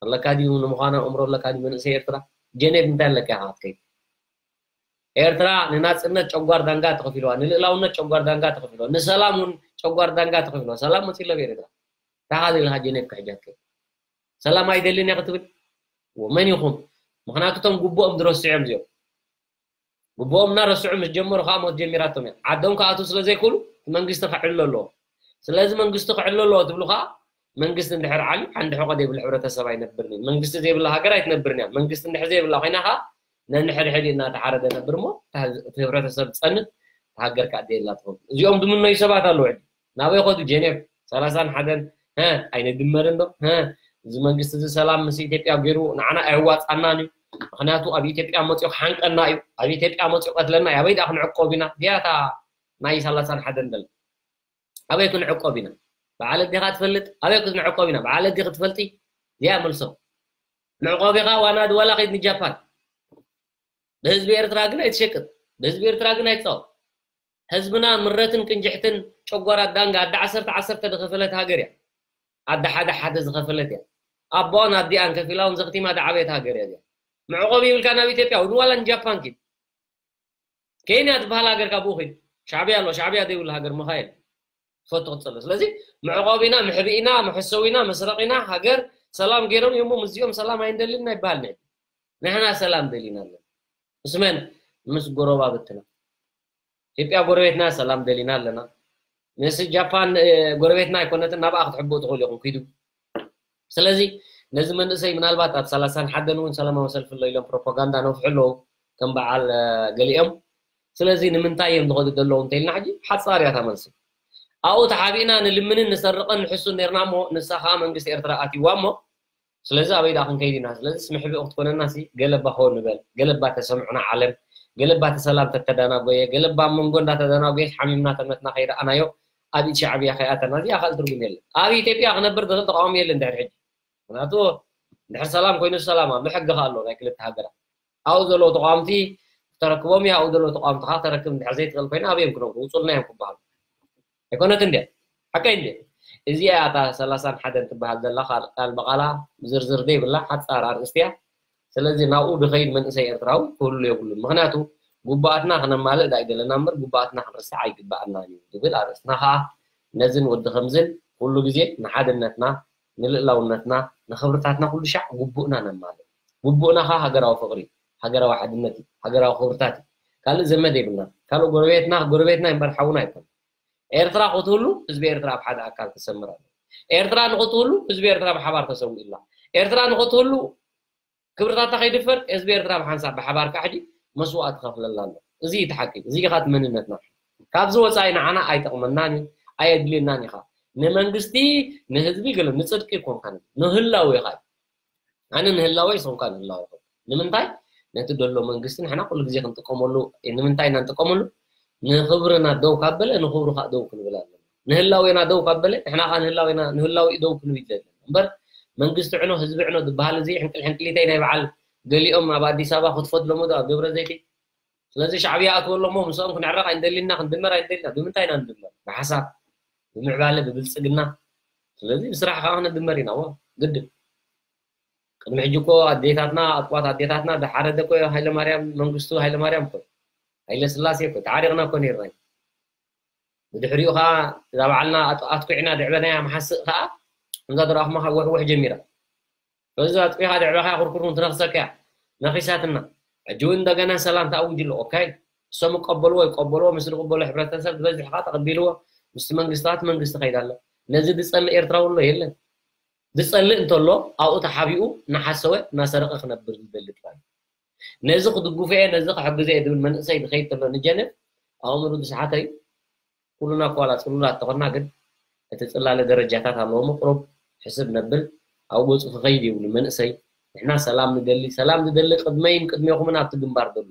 ኣለካ ድዩ ንምዃኑ ኣእምሮ ኣለካ ድዩ መንእሰይ ኤርትራ? ጀኔቭ እንታይ ኣለካ ኢኻ ክትከይድ? ኤርትራ ንናጽነት ጨጓር ዳንጋ ተኸፊልዋ፣ ንልእላውነት ጨጓር ዳንጋ ተኸፊልዋ፣ ንሰላም እውን ጨጓር ዳንጋ ተኸፊልዋ። ሰላም መጺእ ኣሎ ኣብ ኤርትራ። እንታይ ኢኻ ዘለኻ ጀኔቭ ክሕጃ ትከይድ? ሰላም ኣይደልን እየ ክትብል? ወ-፣ መን ኢኹም? ምኽንያቱ እቶም ግቡኦም ዝረስዑ እዮም እዚኦም። ግቡኦም እናረስዑ ምስ ጀመሩ ከዓ ሞት ጀሚራቶም እዮም። ዓዶም ክኣትዉ ስለ ዘይክእሉ እቲ መንግስቲ ክዕሎ ኣለዎ። ስለዚ መንግስቲ ክዕሎ ኣለዎ ትብሉ ከዓ መንግስቲ እንድሕር ዓልዩ ሓንቲ ሕቖ ዘይብሉ ሕብረተሰብ ኣይነብርን እዩ። መንግስቲ ዘይብላ ሃገር ኣይትነብርን እያ። መንግስቲ እንድሕር ዘይብላ ኮይና ከዓ ነንሕድሕድ እናተሓረደ ነብር እሞ እቲ ህዝ-፣ እቲ ህብረተሰብ ዝፀንት፣ እቲ ሃገር ከዓ ደየላ ትኸውን። እዚኦም ዝምነዩ ሰባት ኣለዉ። ሕጂ ናበይ ኸዱ? ጀኔቭ ሰላሳን ሓደን፣ ሀ፣ ኣይንድመርን ዶ? ሀ፣ እዚ መንግስቲ እዚ ሰላም ምስ ኢትዮጵያ ገይሩ ንዓና ኣየዋፃናን እዩ። ምኽንያቱ ኣብ ኢትዮጵያ መፂኡ ክሓንቀና እዩ። ኣብ ኢትዮጵያ መፂኡ ቀትለና እዩ። ኣበይ ደኣ ክንዕቆብ ኢና? ድያ እታ ናይ ሰላሳን ሓደን ደላ? ኣበይ ክንዕቆብ ኢና? በዓል ኣዴኻ ትፈልጥ? ኣበይ ክንዕቆብ ኢና? በዓል ኣዴኺ ትፈልጢ? ድያ መልሶ። መዕቆቢኻ ዋና ድዋላ ከይድ ንጃፓን። ብህዝቢ ኤርትራ ግን ኣይትሸቅጥ። ብህዝቢ ኤርትራ ግን ኣይትጻወት። ህዝብና ምረትን ቅንጅሕትን ጨጓራ ዳንጋ ኣደ ዓሰርተ ዓሰርተ ዝኸፈለት ሃገር እያ። ኣደ ሓደ ሓደ ዝኸፈለት እያ። ኣቦን ኣዲኣን ከፊላውን ዘኽቲማ ዝዓበየት ሃገር እያ እዚኣ። መዕቆቢ ይብልካ ናብ ኢትዮጵያ፣ እውን ዋላ ንጃፓን ኪድ። ኬንያ ትበሃል ሃገር ካብኡ ኺድ። ሻዕብያ ኣሎ፣ ሻዕብያ ዘይብሉ ሃገር ምዃ የለን። ትፈቱ ክትጸሎ። ስለዚ መዕቆቢና፣ መሕብኢና፣ መሐሰዊና፣ መስረቂና፣ ሃገር ሰላም ገይሮም እዮም፣ ምስዚኦም ሰላም ኣይንደልን ኣይበሃል። ንሕና ሰላም ደሊና ኣለና። ምስ መን? ምስ ጎረባብትና። ኢትዮጵያ ጎረቤትና ሰላም ደሊና ኣለና። ምስ ጃፓን፣ እ፣ ጎረቤትና ኣይኮነትን፣ ናብኣ ክትሕብኡ ትኽእሉ ኢኹም፣ ኪዱ። ስለዚ ነዚ መንእሰይ ምናልባት ኣብ ሰላሳን ሓደን እውን ሰላማዊ ሰልፊ ኣሎ ኢሎም ፕሮፓጋንዳ ነፍሑ ኣለዉ፣ ከም በዓል፣ እ፣ ገሊኦም። ስለዚ ንምንታይ እዮም ዝኸዱ ዘለዉ እንተኢልና ሕጂ ሓጻር እያ እታ መልሲ። ኣብኡ ተሓቢእና ንልምንን ንሰርቕን ንሕሱን ነርና እሞ ንሳ ኸኣ መንግስቲ ኤርትራ ኣትይዋ እሞ ስለዚ ኣበይ ደኣ ክንከይድ ኢና? ስለዚ ስምሕብኡ ክትኮነና ሲ ገለባ ሆ ንበል። ገለባ ተሰምዑና ዓለም። ገለባ እቲ ሰላም ተተዳናጎየ። ገለባ ኣብ መንጎ እንዳተዳናጎየ ሓሚምና ተመትና ከይረኣናዮ ኣብ ኢድ ሻዕብያ ከይኣተና። እዚኣ ካልእ ትርጉም የለን። ኣብ ኢትዮጵያ ክነብር ዝኽእል ተቃዋሚ የለን ድሕሪ ሕጂ። ምክንያቱ ድሕሪ ሰላም ኮይኑ ሰላም ኣሎ። ሕጊ ከኣ ኣሎ ናይ ክልተ ሃገራት። ኣብኡ ዘለዉ ተቃወምቲ ክተረክቦም እያ። ኣብኡ ዘለዉ ተቃወምቲ ከኣ ክተረክብ እንድሕር ዘይትኽእል ኮይና ኣበይ እዮም ክነብሩ? ውጹልና እዮም ክበሃሉ። ኣይኮነትን ድያ? ሓቀይ እንድያ? እዚኣ እያ እታ ሰላሳን ሓደን ትበሃል ዘላ ቃል፣ ቃል ብቓላ ዝርዝር ዘይብላ ሓጻር ኣርእስቲ እያ። ስለዚ ናብኡ ዝኸይድ መንእሰይ ኤርትራዊ ክህሉ የብሉን። ምኽንያቱ ግቡኣትና ክነማልእ ዳኣ ይደለና እምበር ግቡኣትና ክንርስዕ ኣይግባኣናን እዩ ዝብል ኣርእስትና ከኣ ነዝን ወዲ ከምዝን ኩሉ ግዜ ንሓድነትና፣ ንልእላውነትና፣ ንኽብርታትና ኩሉ ሻዕ ግቡእና ነማልእ። ግቡእና ከኣ ሃገራዊ ፍቕሪ እዩ፣ ሃገራዊ ሓድነት እዩ፣ ሃገራዊ ክብርታት እዩ። ካልእ ዘመድ የብልና። ካልእ ጎረቤትና፣ ጎረቤትና እምበር ሓውና ኣይኮነን። ኤርትራ ክትህሉ ህዝቢ ኤርትራ ኣብ ሓደ ኣካል ክሰምር ኣለዎ። ኤርትራ ንኽትህሉ ህዝቢ ኤርትራ ብሓባር ተሰዊእላ። ኤርትራ ንኽትህሉ ክብርታታ ከይድፈር ህዝቢ ኤርትራ ብሓንሳብ ብሓባር ከዓ ሕጂ መስዋእቲ ከፍለላ ኣሎ። እዚ እዩ እቲ ሓቂ። እዚ ኢኻ እቲ መንነትና። ካብዚ ወፃኢ ንዓና ኣይጠቕመናን እዩ፣ ኣየድልየናን እዩ ከዓ። ንመንግስቲ፣ ንህዝቢ ገለ ንፅድቂ ኣይኮንካን፣ ንህላዌኻ እዩ። ኣነ ንህላወይ ሰውካ ንህላወ ይኸውን። ንምንታይ? ነቲ ደሎ መንግስቲ ንሕና ኩሉ ግዜ ክንጥቀመሉ፣ ንምንታይ ኢና ንጥቀመሉ? ንኽብርና ደው ካብ በለ ንኽብሩ ከዓ ደው ክንብል ኣለና። ንህላዌና ደው ካብ በለ ንሕና ከዓ ንህላዌና፣ ንህላዊ ደው ክንብል ኣለና። እምበር መንግስቲ ዕኖ፣ ህዝቢ ዕኖ ዝበሃል እዚ ሕንቅል ሕንቅሊተይ ናይ በዓል ገሊኦም ኣብ ኣዲስ ኣበባ ክትፎት ለመዱ ኣብ ደብረ ዘይት። ስለዚ ሻዕብያ ኣትወሎ እሞ ምስኦም ክንዕረቕ ኣይንደሊና፣ ክንድመር ኣይንደሊና። ብምንታይ ኢና ንድመር? ብሓሳብ፣ ብምዕባለ፣ ብብልጽግና። ስለዚ ብስራሕ ከዓ ክንድመር ኢና። ዎ ግድን። ቅድሚ ሕጂ እኮ ኣዴታትና፣ ኣጥቋት ኣዴታትና ዝሓረደ እኮ ሃይለማርያም፣ መንግስቱ ሃይለማርያም እኮ፣ ሃይለ ስላሴ እኮ፣ ተዓሪቕና እኮ ነይርና። ብድሕሪኡ ከዓ እዛ ባዕልና ኣጥ-፣ ኣጥቂዕና ድዕበናያ መሓስእ ከዓ፣ ከምዛ ዝረኣኹማ ከዓ ውሕውሕ ጀሚራ። በዚ ኣጥቂኻ ድዕበኻ ኩርኩር እውን ትነኽሰካ እያ። ነኺሳትና። ሕጂ እውን እንደገና ሰላም ተኣዊጁ ኣሎ። ኦኬ። እሶም ይቀበልዎ፣ ይቀበልዎ፣ ምስ ዝቅበሎ ሕብረተሰብ ዝበዝሕ ከዓ ተቐቢልዎ፣ ምስቲ መንግስታት መንግስቲ ከይዳ ኣሎ። ነዚ ዝጸልእ ኤርትራዊ ኣሎ የለን። ዝጸልእ እንተሎ ኣብኡ ተሓቢኡ እናሓሰወ እናሰረቐ ክነብር ዝደሊ ጥራይ። ነዚ ክድግፎ እየ፣ ነዚ ክሕግዞ እየ ዝብል መንእሰይ ዝኸይድ ተሎ ንጀነብ ኣእምሩ ዝሰሓተ እዩ። ኩሉና እኮ ዋላ ጽሉላት ተኾንና ግን እቲ ጽላለ ደረጃታት ኣለዎ ምቕሩብ ሕስብ ነብል። ኣብ ገጹ ክኸይድ ይብሉ መንእሰይ። ንሕና ሰላም ንደሊ፣ ሰላም ዝደሊ ቅድመይን ቅድሜኹምን ኣብቲ ግንባር ዘሎ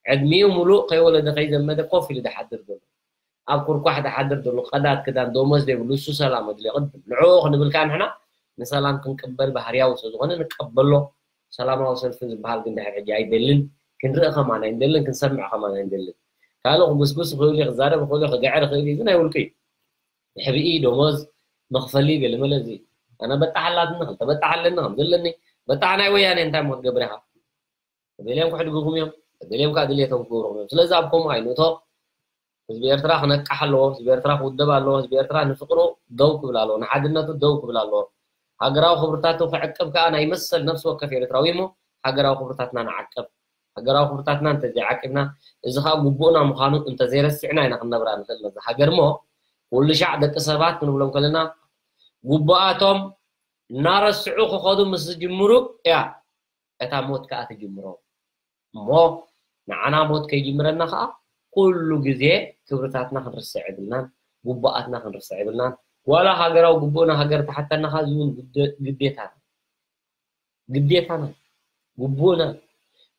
ዕድሚኡ ሙሉእ ከይወለደ ከይዘመደ ኮፍ ኢሉ ዝሓድር ዘሎ፣ ኣብ ኩርኳሕ ዝሓድር ዘሎ፣ ቀዳድ ክዳን ደሞዝ ዘይብሉ፣ እሱ ሰላም ኣድልዮ ቅድም ንዕኡ ክንብል ከኣ ንሕና ንሰላም ክንቅበል ባህርያዊ ስለ ዝኾነ ንቀበሎ። ሰላማዊ ሰልፊ ዝበሃል ግን ድሕር ሕጂ ኣይደልን፣ ክንርኢ ከማን ኣይንደልን፣ ክንሰምዕ ከማን ኣይንደልን። ካልእ ክጉስጉስ ይኽእል እዩ፣ ክዛረብ ይኽእል እዩ፣ ክግዕር ይኽእል እዩ፣ እዚ ናይ ውልቁ እዩ። ሕብኢ፣ ደሞዝ፣ መኽፈሊ ገለመለ እዚ ኣነ በጣሕ ኣላትኒ፣ ክልተ በጣሕ ኣለኒ፣ ከም ዘለኒ በጣሕ ናይ ወያኔ እንታይ እሞ ክትገብር ኢኻ? ተደልዮም ክሕድጉኹም እዮም፣ ተደልዮም ከዓ ድልየቶም ክገብሩኹም እዮም። ስለዚ ኣብ ከምኡ ኣይንእቶ። ህዝቢ ኤርትራ ክነቃሕ ኣለዎ፣ ህዝቢ ኤርትራ ክውደብ ኣለዎ፣ ህዝቢ ኤርትራ ንፍቅሩ ደው ክብል ኣለዎ፣ ንሓድነቱ ደው ክብል ኣለዎ። ሃገራዊ ክብርታቱ ክዕቅብ ከዓ ናይ መሰል ነፍሲ ወከፍ ኤርትራዊ እሞ ሃገራዊ ክብርታትና ንዓቅብ። ሃገራዊ ክብርታትና እንተዘይዓቂብና፣ እዚ ከዓ ግቡእና ምዃኑ እንተዘይረሲዕና ኢና ክንነብራ ንኽእል ነዛ ሃገር እሞ ኩሉ ሻዕ ደቂ ሰባት ክንብሎም ከለና ግቡኣቶም እናረስዑ ክኸዱ ምስ ዝጅምሩ እያ እታ ሞት ከኣ ትጅምሮ። እሞ ንዓና ሞት ከይጅምረና ከኣ ኩሉ ግዜ ክብርታትና ክንርስዕ የብልናን፣ ግቡኣትና ክንርስዕ የብልናን። ዋላ ሃገራዊ ግቡእና ሃገር ተሓተና ከኣ እዚ እውን ግደ-፣ ግዴታና፣ ግዴታና፣ ግቡእና፣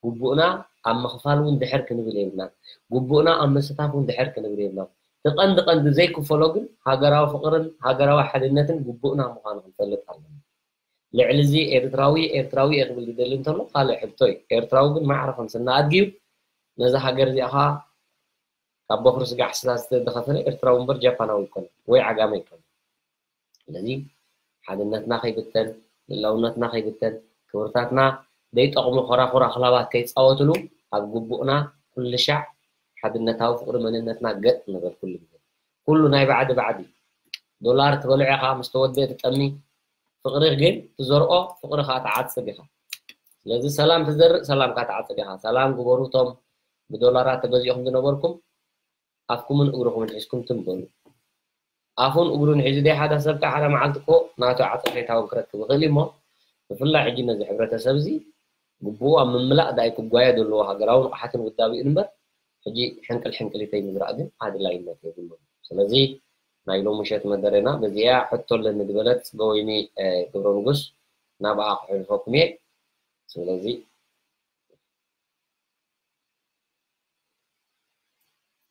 ግቡእና ኣብ ምኽፋል እውን ድሕር ክንብል የብልናን። ግቡእና ኣብ ምስታፍ እውን ድሕር ክንብል የብልናን። እቲ ቀንዲ ቀንዲ ዘይክፈሎ ግን ሃገራዊ ፍቕርን ሃገራዊ ሓድነትን ግቡእና ምዃኑ ክንፈልጥ ኣለና። ልዕሊ እዚ ኤርትራዊ፣ ኤርትራዊ እየ ክብል ዝደሊ እንተሎ ካልእ ሕቶ እዩ። ኤርትራዊ ግን ማዕረ ከም ስና ኣድጊ እዩ። ነዛ ሃገር እዚኣ ኸኣ ካብ በኹሪ ስጋዕ ስላ ዝተደኸፈለ ኤርትራዊ እምበር ጃፓናዊ ኣይኮነን ወይ ዓጋመ ኣይኮነን። ስለዚ ሓድነትና ከይብተን፣ ልእላውነትና ከይብተን፣ ክብርታትና ዘይጠቕሙ ኮራኹር ኣኽላባት ከይጻወትሉ ኣብ ግቡእና ኩሉ ሻዕ ሓድነታዊ ፍቕሪ መንነትና ገጥ ንበል ኩሉ ግዜ። ኩሉ ናይ ባዕዲ ባዕዲ። ዶላር ትበልዖ ኢኻ፣ ምስ ተወደአ ትጠሚ። ፍቕሪ ግን ትዘርኦ፣ ፍቕሪ ኸኣ ትዓጽድ ኢኻ። ስለዚ ሰላም ትዘርእ፣ ሰላም ከኣ ትዓጽድ ኢኻ። ሰላም ግበሩ፣ እቶም ብዶላራት ተገዚእኹም ዝነበርኩም፣ ኣፍኩምን እግርኹምን ሒዝኩም ትም በሉ። ኣፉን እግሩን ሒዙ ደይ ሓደ ሰብ ከኣ ሓደ መዓልቲ እኮ ናቱ ዓጸፌታ እውን ክረክብ ይኽእል እዩ እሞ፣ ብፍላይ ሕጂ ነዚ ሕብረተሰብ እዚ ግቡኡ ኣብ ምምላእ ዳይ ክጓየ ዘለዎ ሃገራዊ ንቕሓትን ውዳቤኡን እምበር፣ ሕጂ ሕንቅል ሕንቅሊተይ ምዝራእ ግን ኣድላይነት የብሉን። ስለዚ ናይ ሎሚ ምሸት መደረና በዚኣ ሕቶ ኣለኒ ዝበለት ጽገወይኒ፣ እ፣ ገብረ ንጉስ ናብኣ ክሕልፈኩም እየ። ስለዚ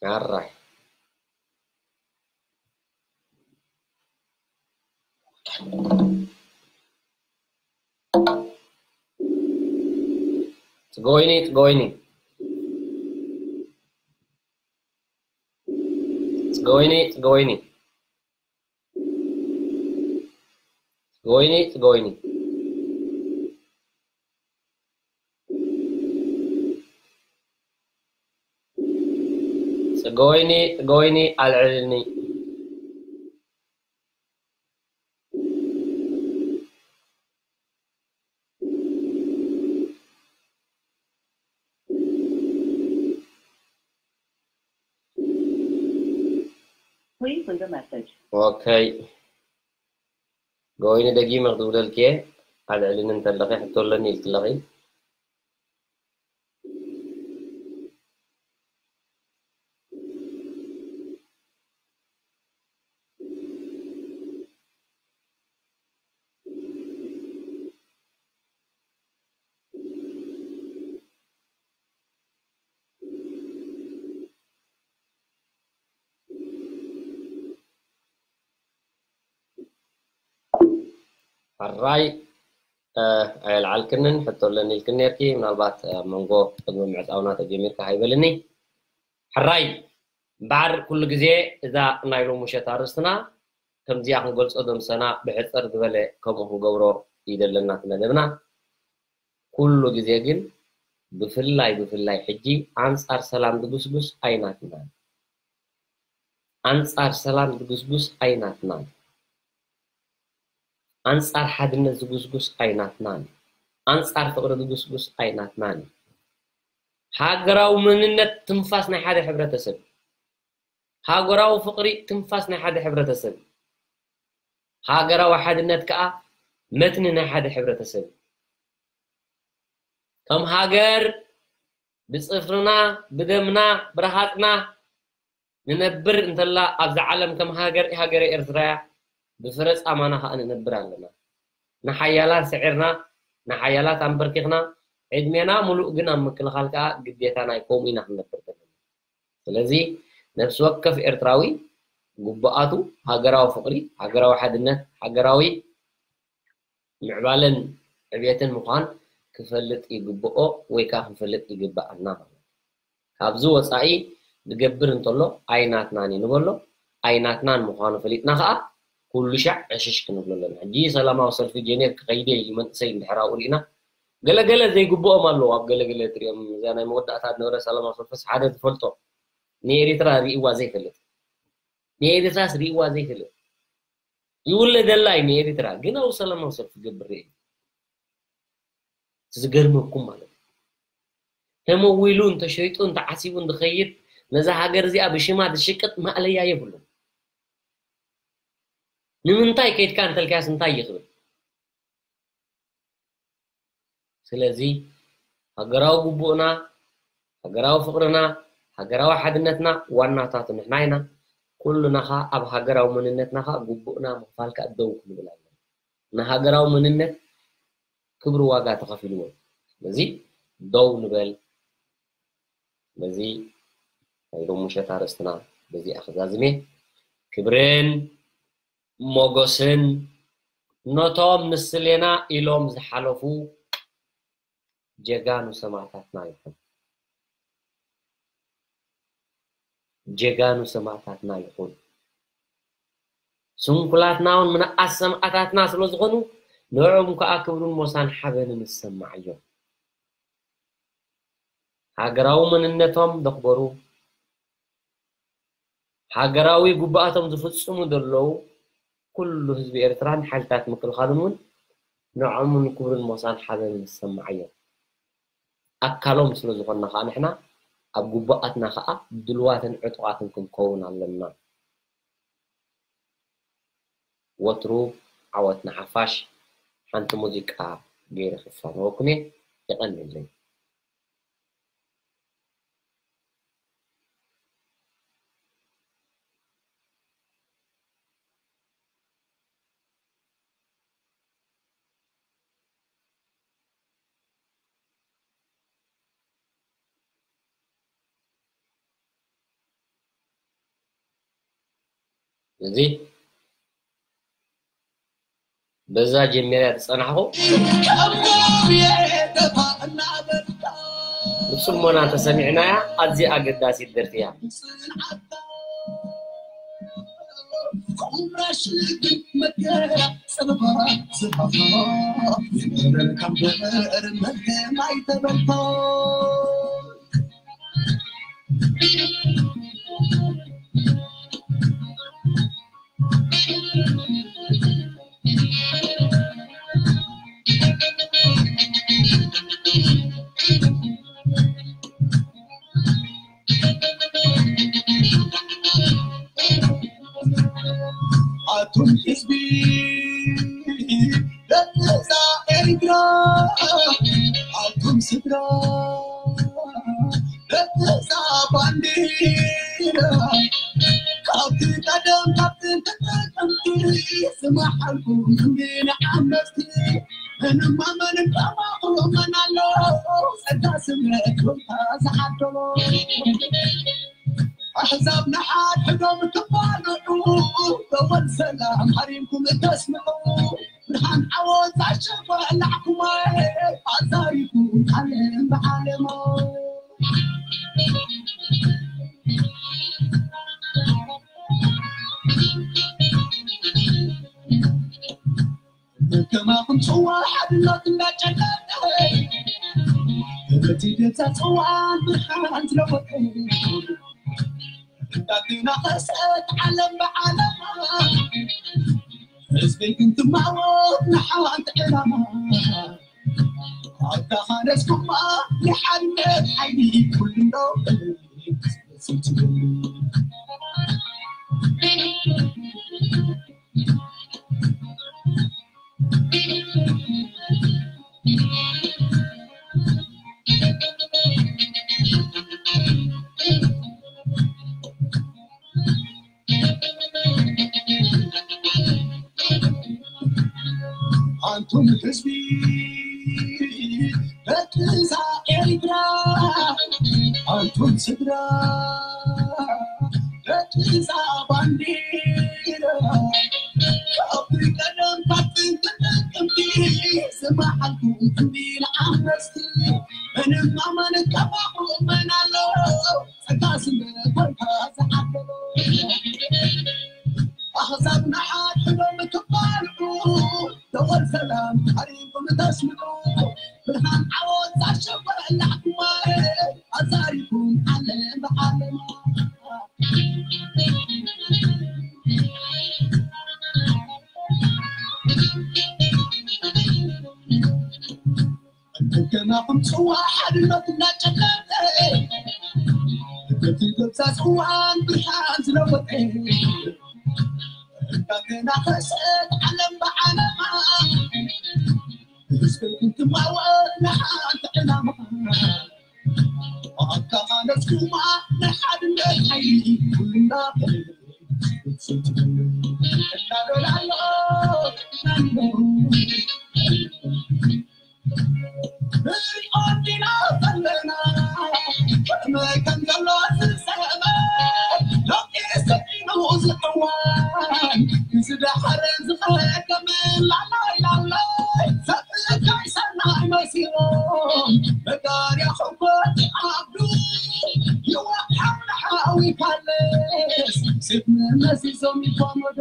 ኣራይ። ጽገወይኒ፣ ጽገወይኒ። ጽገወይኒ፣ ጽገወይኒ። ጽገወይኒ፣ ጽገወይኒ። ጽገወይኒ፣ ጽገወይኒ፣ ኣልዕልኒ። Please leave a message. ኦከይ። ጎይኒ ደጊመ ክድውለልኪ እየ። ኣልዕልኒ እንተለኺ ሕቶ ኣለኒ ኢልክለኺ። ሕራይ፣ እ፣ ኣየልዓልክንን ሕቶ ኣለኒ ኢልክን ነርኪ። ምናልባት፣ እ፣ ኣብ መንጎ ቅድሚ ምዕጻውና ተጀሚርካ ሃይበልኒ። ሕራይ፣ እምበኣር ኩሉ ግዜ እዛ ናይ ሎሚ ምሸት ኣርእስትና ከምዚኣ ክንገልጾ ዶ ምሰና ብሕጽር ዝበለ ከምኡ ክንገብሮ ይደለና እቲ መደብና። ኩሉ ግዜ ግን ብፍላይ፣ ብፍላይ ሕጂ ኣንጻር ሰላም ዝጉስጉስ ኣይናትናን። ኣንጻር ሰላም ዝጉስጉስ ኣይናትናን። ኣንጻር ሓድነት ዝጉስጉስ ኣይናትናን። ኣንጻር ፍቕሪ ዝጉስጉስ ኣይናትናን። ሃገራዊ መንነት ትንፋስ ናይ ሓደ ሕብረተሰብ። ሃገራዊ ፍቕሪ ትንፋስ ናይ ሓደ ሕብረተሰብ። ሃገራዊ ሓድነት ከኣ መትኒ ናይ ሓደ ሕብረተሰብ። ከም ሃገር ብጽፍርና፣ ብደምና፣ ብረሃጽና ንነብር እንተላ ኣብዛ ዓለም ከም ሃገር፣ ሃገረ ኤርትራ እያ። ብፍረ ጻማና ከኣ ንነብር ኣለና። ንሓያላት ስዒርና፣ ንሓያላት ኣንበርኪኽና፣ ዕድሜና ሙሉእ ግን ኣብ ምክልኻል ከኣ ግዴታ ናይ ከምኡ ኢና ክንነብር ዘለና። ስለዚ ነፍሲ ወከፍ ኤርትራዊ ግቡኣቱ ሃገራዊ ፍቕሪ፣ ሃገራዊ ሓድነት፣ ሃገራዊ ምዕባለን ዕብየትን ምዃን ክፈልጥ ይግብኦ ወይ ከኣ ክንፈልጥ ይግብኣና ማለት እዩ። ካብዚ ወጻኢ ዝገብር እንተሎ ኣይናትናን እዩ ንበሎ፣ ኣይናትናን ምዃኑ ፈሊጥና ከኣ ኩሉ ሻዕ ዕሽሽ ክንብሎ ኣለና። ሕጂ ሰላማዊ ሰልፊ ጀኔቭ ክኸይድ እየ ኢሉ መንእሰይ እንድሕር ኣብኡ ርኢና፣ ገለገለ ዘይግብኦም ኣለዉ። ኣብ ገለገለ ትሪኦም፣ እዛ ናይ መወዳእታ ዝነበረ ሰላማዊ ሰልፍስ ሓደ ዝፈልጦ ንኤሪትራ ርእይዋ ዘይፈልጥ፣ ንኤሪትራስ ርእይዋ ዘይፈልጥ ይውለደላ እዩ ንኤሪትራ፣ ግን ኣብኡ ሰላማዊ ሰልፊ ክገብር ርእየ። ዝገርመኩም ማለት እዩ። ተመዊሉ እንተሸይጡ እንተዓሲቡ እንድኸይድ ነዛ ሃገር እዚኣ ብሽማ ዝሽቅጥ ማእለያ የብሉን። ንምንታይ ከይድካ እንተልካያስ እንታይ ይኽብል? ስለዚ ሃገራዊ ግቡእና፣ ሃገራዊ ፍቕርና፣ ሃገራዊ ሓድነትና ዋናታቱ ንሕና ኢና። ኩሉና ኸኣ ኣብ ሃገራዊ መንነትና ኸኣ ግቡእና ምኽፋል ከኣ ደው ክንብል ኣለና። ንሃገራዊ መንነት ክብሪ ዋጋ ተኸፊልዎ። ስለዚ ደው ንበል። በዚ ናይ ሎሚ ምሸት ኣርእስትና በዚኣ ክዛዝም እየ። ክብርን ሞጎስን ነቶም ንስሌና ኢሎም ዝሓለፉ ጀጋኑ ሰማእታትና ይኹን። ጀጋኑ ሰማእታትና ይኹን። ስንኩላትና እውን ምንኣስ ሰማእታትና ስለ ዝኾኑ ንዕኦም ከኣ ክብርን ሞሳን ሓበንን ዝሰማዓዮም። ሃገራዊ መንነቶም ዘኽበሩ፣ ሃገራዊ ግቡኣቶም ዝፍጽሙ ዘለዉ ኩሉ ህዝቢ ኤርትራን ሓይልታት ምክልኻሉን እውን ንዖምን ክብርን ሞሳን ሓበንን ዝሰማዓዮ ኣካሎም ስለ ዝኾንና ከኣ ንሕና ኣብ ግቡኣትና ከኣ ድልዋትን ዕጡቓትን ክንከውን ኣለና። ወትሩ ዓወት ንሓፋሽ። ሓንቲ ሙዚቃ ገይረ ክፋነወኩም እየ። የቐንየለይ። እዚ በዛ ጀሚረ ዝጸናሕኹ ብጽሞና ተሰሚዕናያ። ኣዝያ ኣገዳሲት ደርፊ እያ። ኣቱም ህዝቢ ደቂ እዛ ኤርትራ፣ ኣቱም ስድራ ደቂ እዛ ባንዲራ፣ ካብቲ ቀደም ካብ ጥንቲ ጥንቲ ዝመሓልኩም ንዓመፅቲ ምንም ኣመን ከማኹም መን ኣሎ ጸጋ ስምረት ዝሓደሎ። ኣሕዛብ ንሓድሕዶም ክፋንዑ፣ በወል ሰላም ሃሪምኩም እተስምዑ፣ ብርሃን ዓወት ኣሸባላዕኩማ፣ ኣዛሪቡ ዓለም ብዓለሞ። ከማኹም ጽዋ ሓድነት እንዳጨቀጠ፣ እቲ ገዛ ጽዋ ብርሃን ዝለወጠ፣ እንዳተናኸሰት ዓለም ብዓለማ፣ ህዝበይ ግን ትማወት ንሓንቲ ዕላማ። ኣታ ኻነስኩማ ንሓድነት ሓይሊ ኩሉ እንዶ ኣንቱም ህዝቢ ደቂ እዛ ኤርትራ፣ ኣንቱም ስድራ ደቂ እዛ ባንዲራ፣ ካብ ቀደም ካብ ጥንቲ ጥቅምቲ ዝመሓልኩም ትንቢል ዓመፅቲ፣ ምንም ኣማን ካብ ኣቕሩብ መን ኣሎ? ጸጋ ስለ ኮንካ ዝዓደሎ ኣሕዛብ ንሓድሕዶም ክባልዑ፣ ደወል ሰላም ቀሪብኩም ተስምዑ። ብርሃን ዓወት ዛሸበላዕኩማ፣ ኣዛሪኩም ዓለም ብዓለማ። እንከናኹም ጽዋ ሓድነት እናጨለጠ፣ በቲ ገብዛ ጽዋን ብርሃን ዝለወጠ፣ እንዳተናኸሰት ዓለም ብዓለማ፣ ብህዝቢ እንትማወር ንሓንቲ ዕላማ። ኣካኻለስኩማ ናይ ሓድነት ሓይሊ ኩልና እናበላሎ፣ እናበላሎ። ንሪኦ እንዲና ዘለና፣ ከመይ ከም ዘሎ ዝሰመ፣ ሎሚ ስዒኑ ዝዕዋን፣ ዝደሓረ ዝኸከም፣ ላላይ ላላይ፣ ሰብእካይ ሰናይ መሲሎም፣ መጋርያ ሕጎ ይዓብዱ፣ ይወሓው ንሓዊ ፓለስ፣ ስብ መመዚዞም ይጓመዶ፣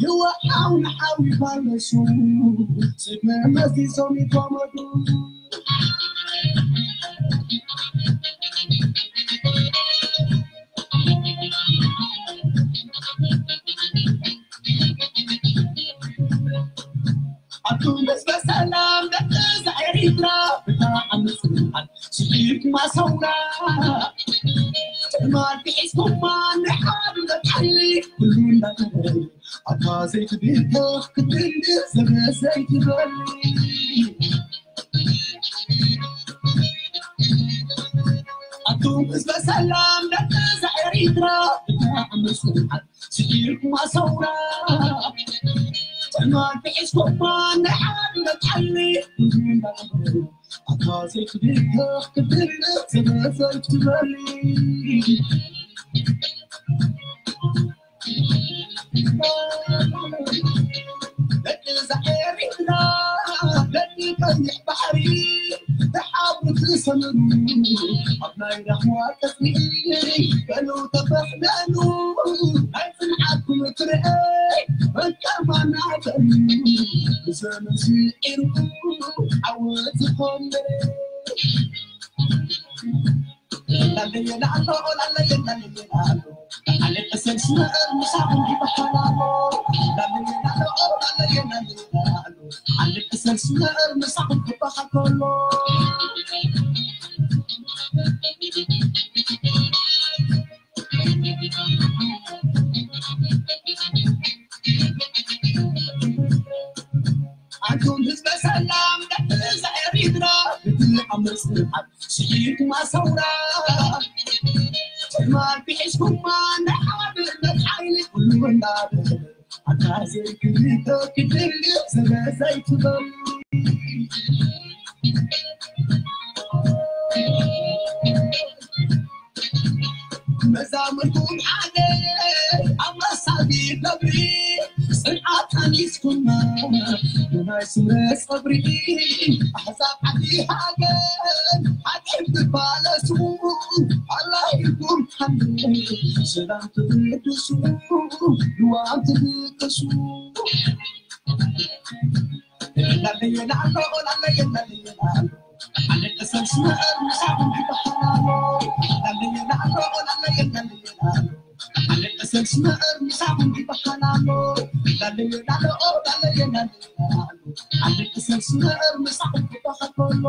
ይወሓው ንሓዊ ፓለሱ፣ ስብ መመዚዞም ይጓመዱ። ኣቱም ህዝበ ሰላም ደቂ እዛ ኤሪትራ፣ ብጣዕሚ ጽኑዓት ስዒርኩማ ሰውራ። ትማል ሒዝኩማ ናይ ሓድነት ሓይሊ ኩሉ እንዳገበረ፣ ኣታ ዘይትብከኽ ክትብል ዘበ ዘይትበል። ኣቱም ህዝበ ሰላም ደቂ እዛ ኤሪትራ፣ ብጣዕሚ ጽኑዓት ስዒርኩማ ሰውራ። ትማል ሒዝኩማ ናይ ሓድነት ሓይሊ ኩሉ እንዳገበረ፣ ኣታ ዘይትብከኽ ክትብል ዘበ ዘይትበል። ደቂ እዛ ኤሪትራ፣ ደቂ ቀይሕ ባሕሪ፣ ብሓዊ ትሰምሩ፣ ኣብ ናይ ራህዋ ቀጽሪ፣ በሉ ተፈሕለሉ፣ ናይ ጽንዓትኩም ፍረ፣ መከማና በሉ፣ ብዘመን ስዒሩ፣ ዓወት ዝኾን በረ። ላለየ ላሎ፣ ላለየ ላለየ ላሎ፣ ኣለቀሰል ስመር ምሳኹም ይበሃል ኣሎ። ላለየ ላሎ፣ ላለየ ላለየ ላሎ፣ ኣለቀሰል ስመር ምሳኹም ይበሃል ከሎ። ኣንቱም ህዝበ ሰላም ደቂ እዛ ኤሪትራ፣ ብትኣምር ጽንዓት ስዒርኩማ ሰውራ። ትማል ሒዝኩማ ናይ ሓድነት ሓይሊ ኩሉ እንዳበለ፣ ኣታ ዘይክልተ ክድሊ ስለ ዘይትበሉ። መዛሙርኩም ሓደ ኣብ መሳሊ ነብሪ፣ ጽንዓት ኣኒስኩማ ብናይ ስምረ ጸብሪ። ኣሕዛብ ዓዲ ሃገር ሓጢኣት ትባለሱ፣ ኣላሂኩም ሓንቲ ሰላም ትብድሱ፣ ልዋም ትብቅሱ። ላለየ ላሎ፣ ላለየ ላለየ ላሎ፣ ኣለቀሰል ስመር ምሳኹም ይበሃል ኣሎ። ላለየ ላሎ፣ ላለየ ላለየ ላሎ፣ ኣለቀሰል ስመር ምሳኹም ይበሃል ኣሎ። ላለየ ላሎ፣ ላለየ ላለየ ላሎ፣ ኣለቀሰል ስመር ምሳኹም ይበሃል ኣሎ።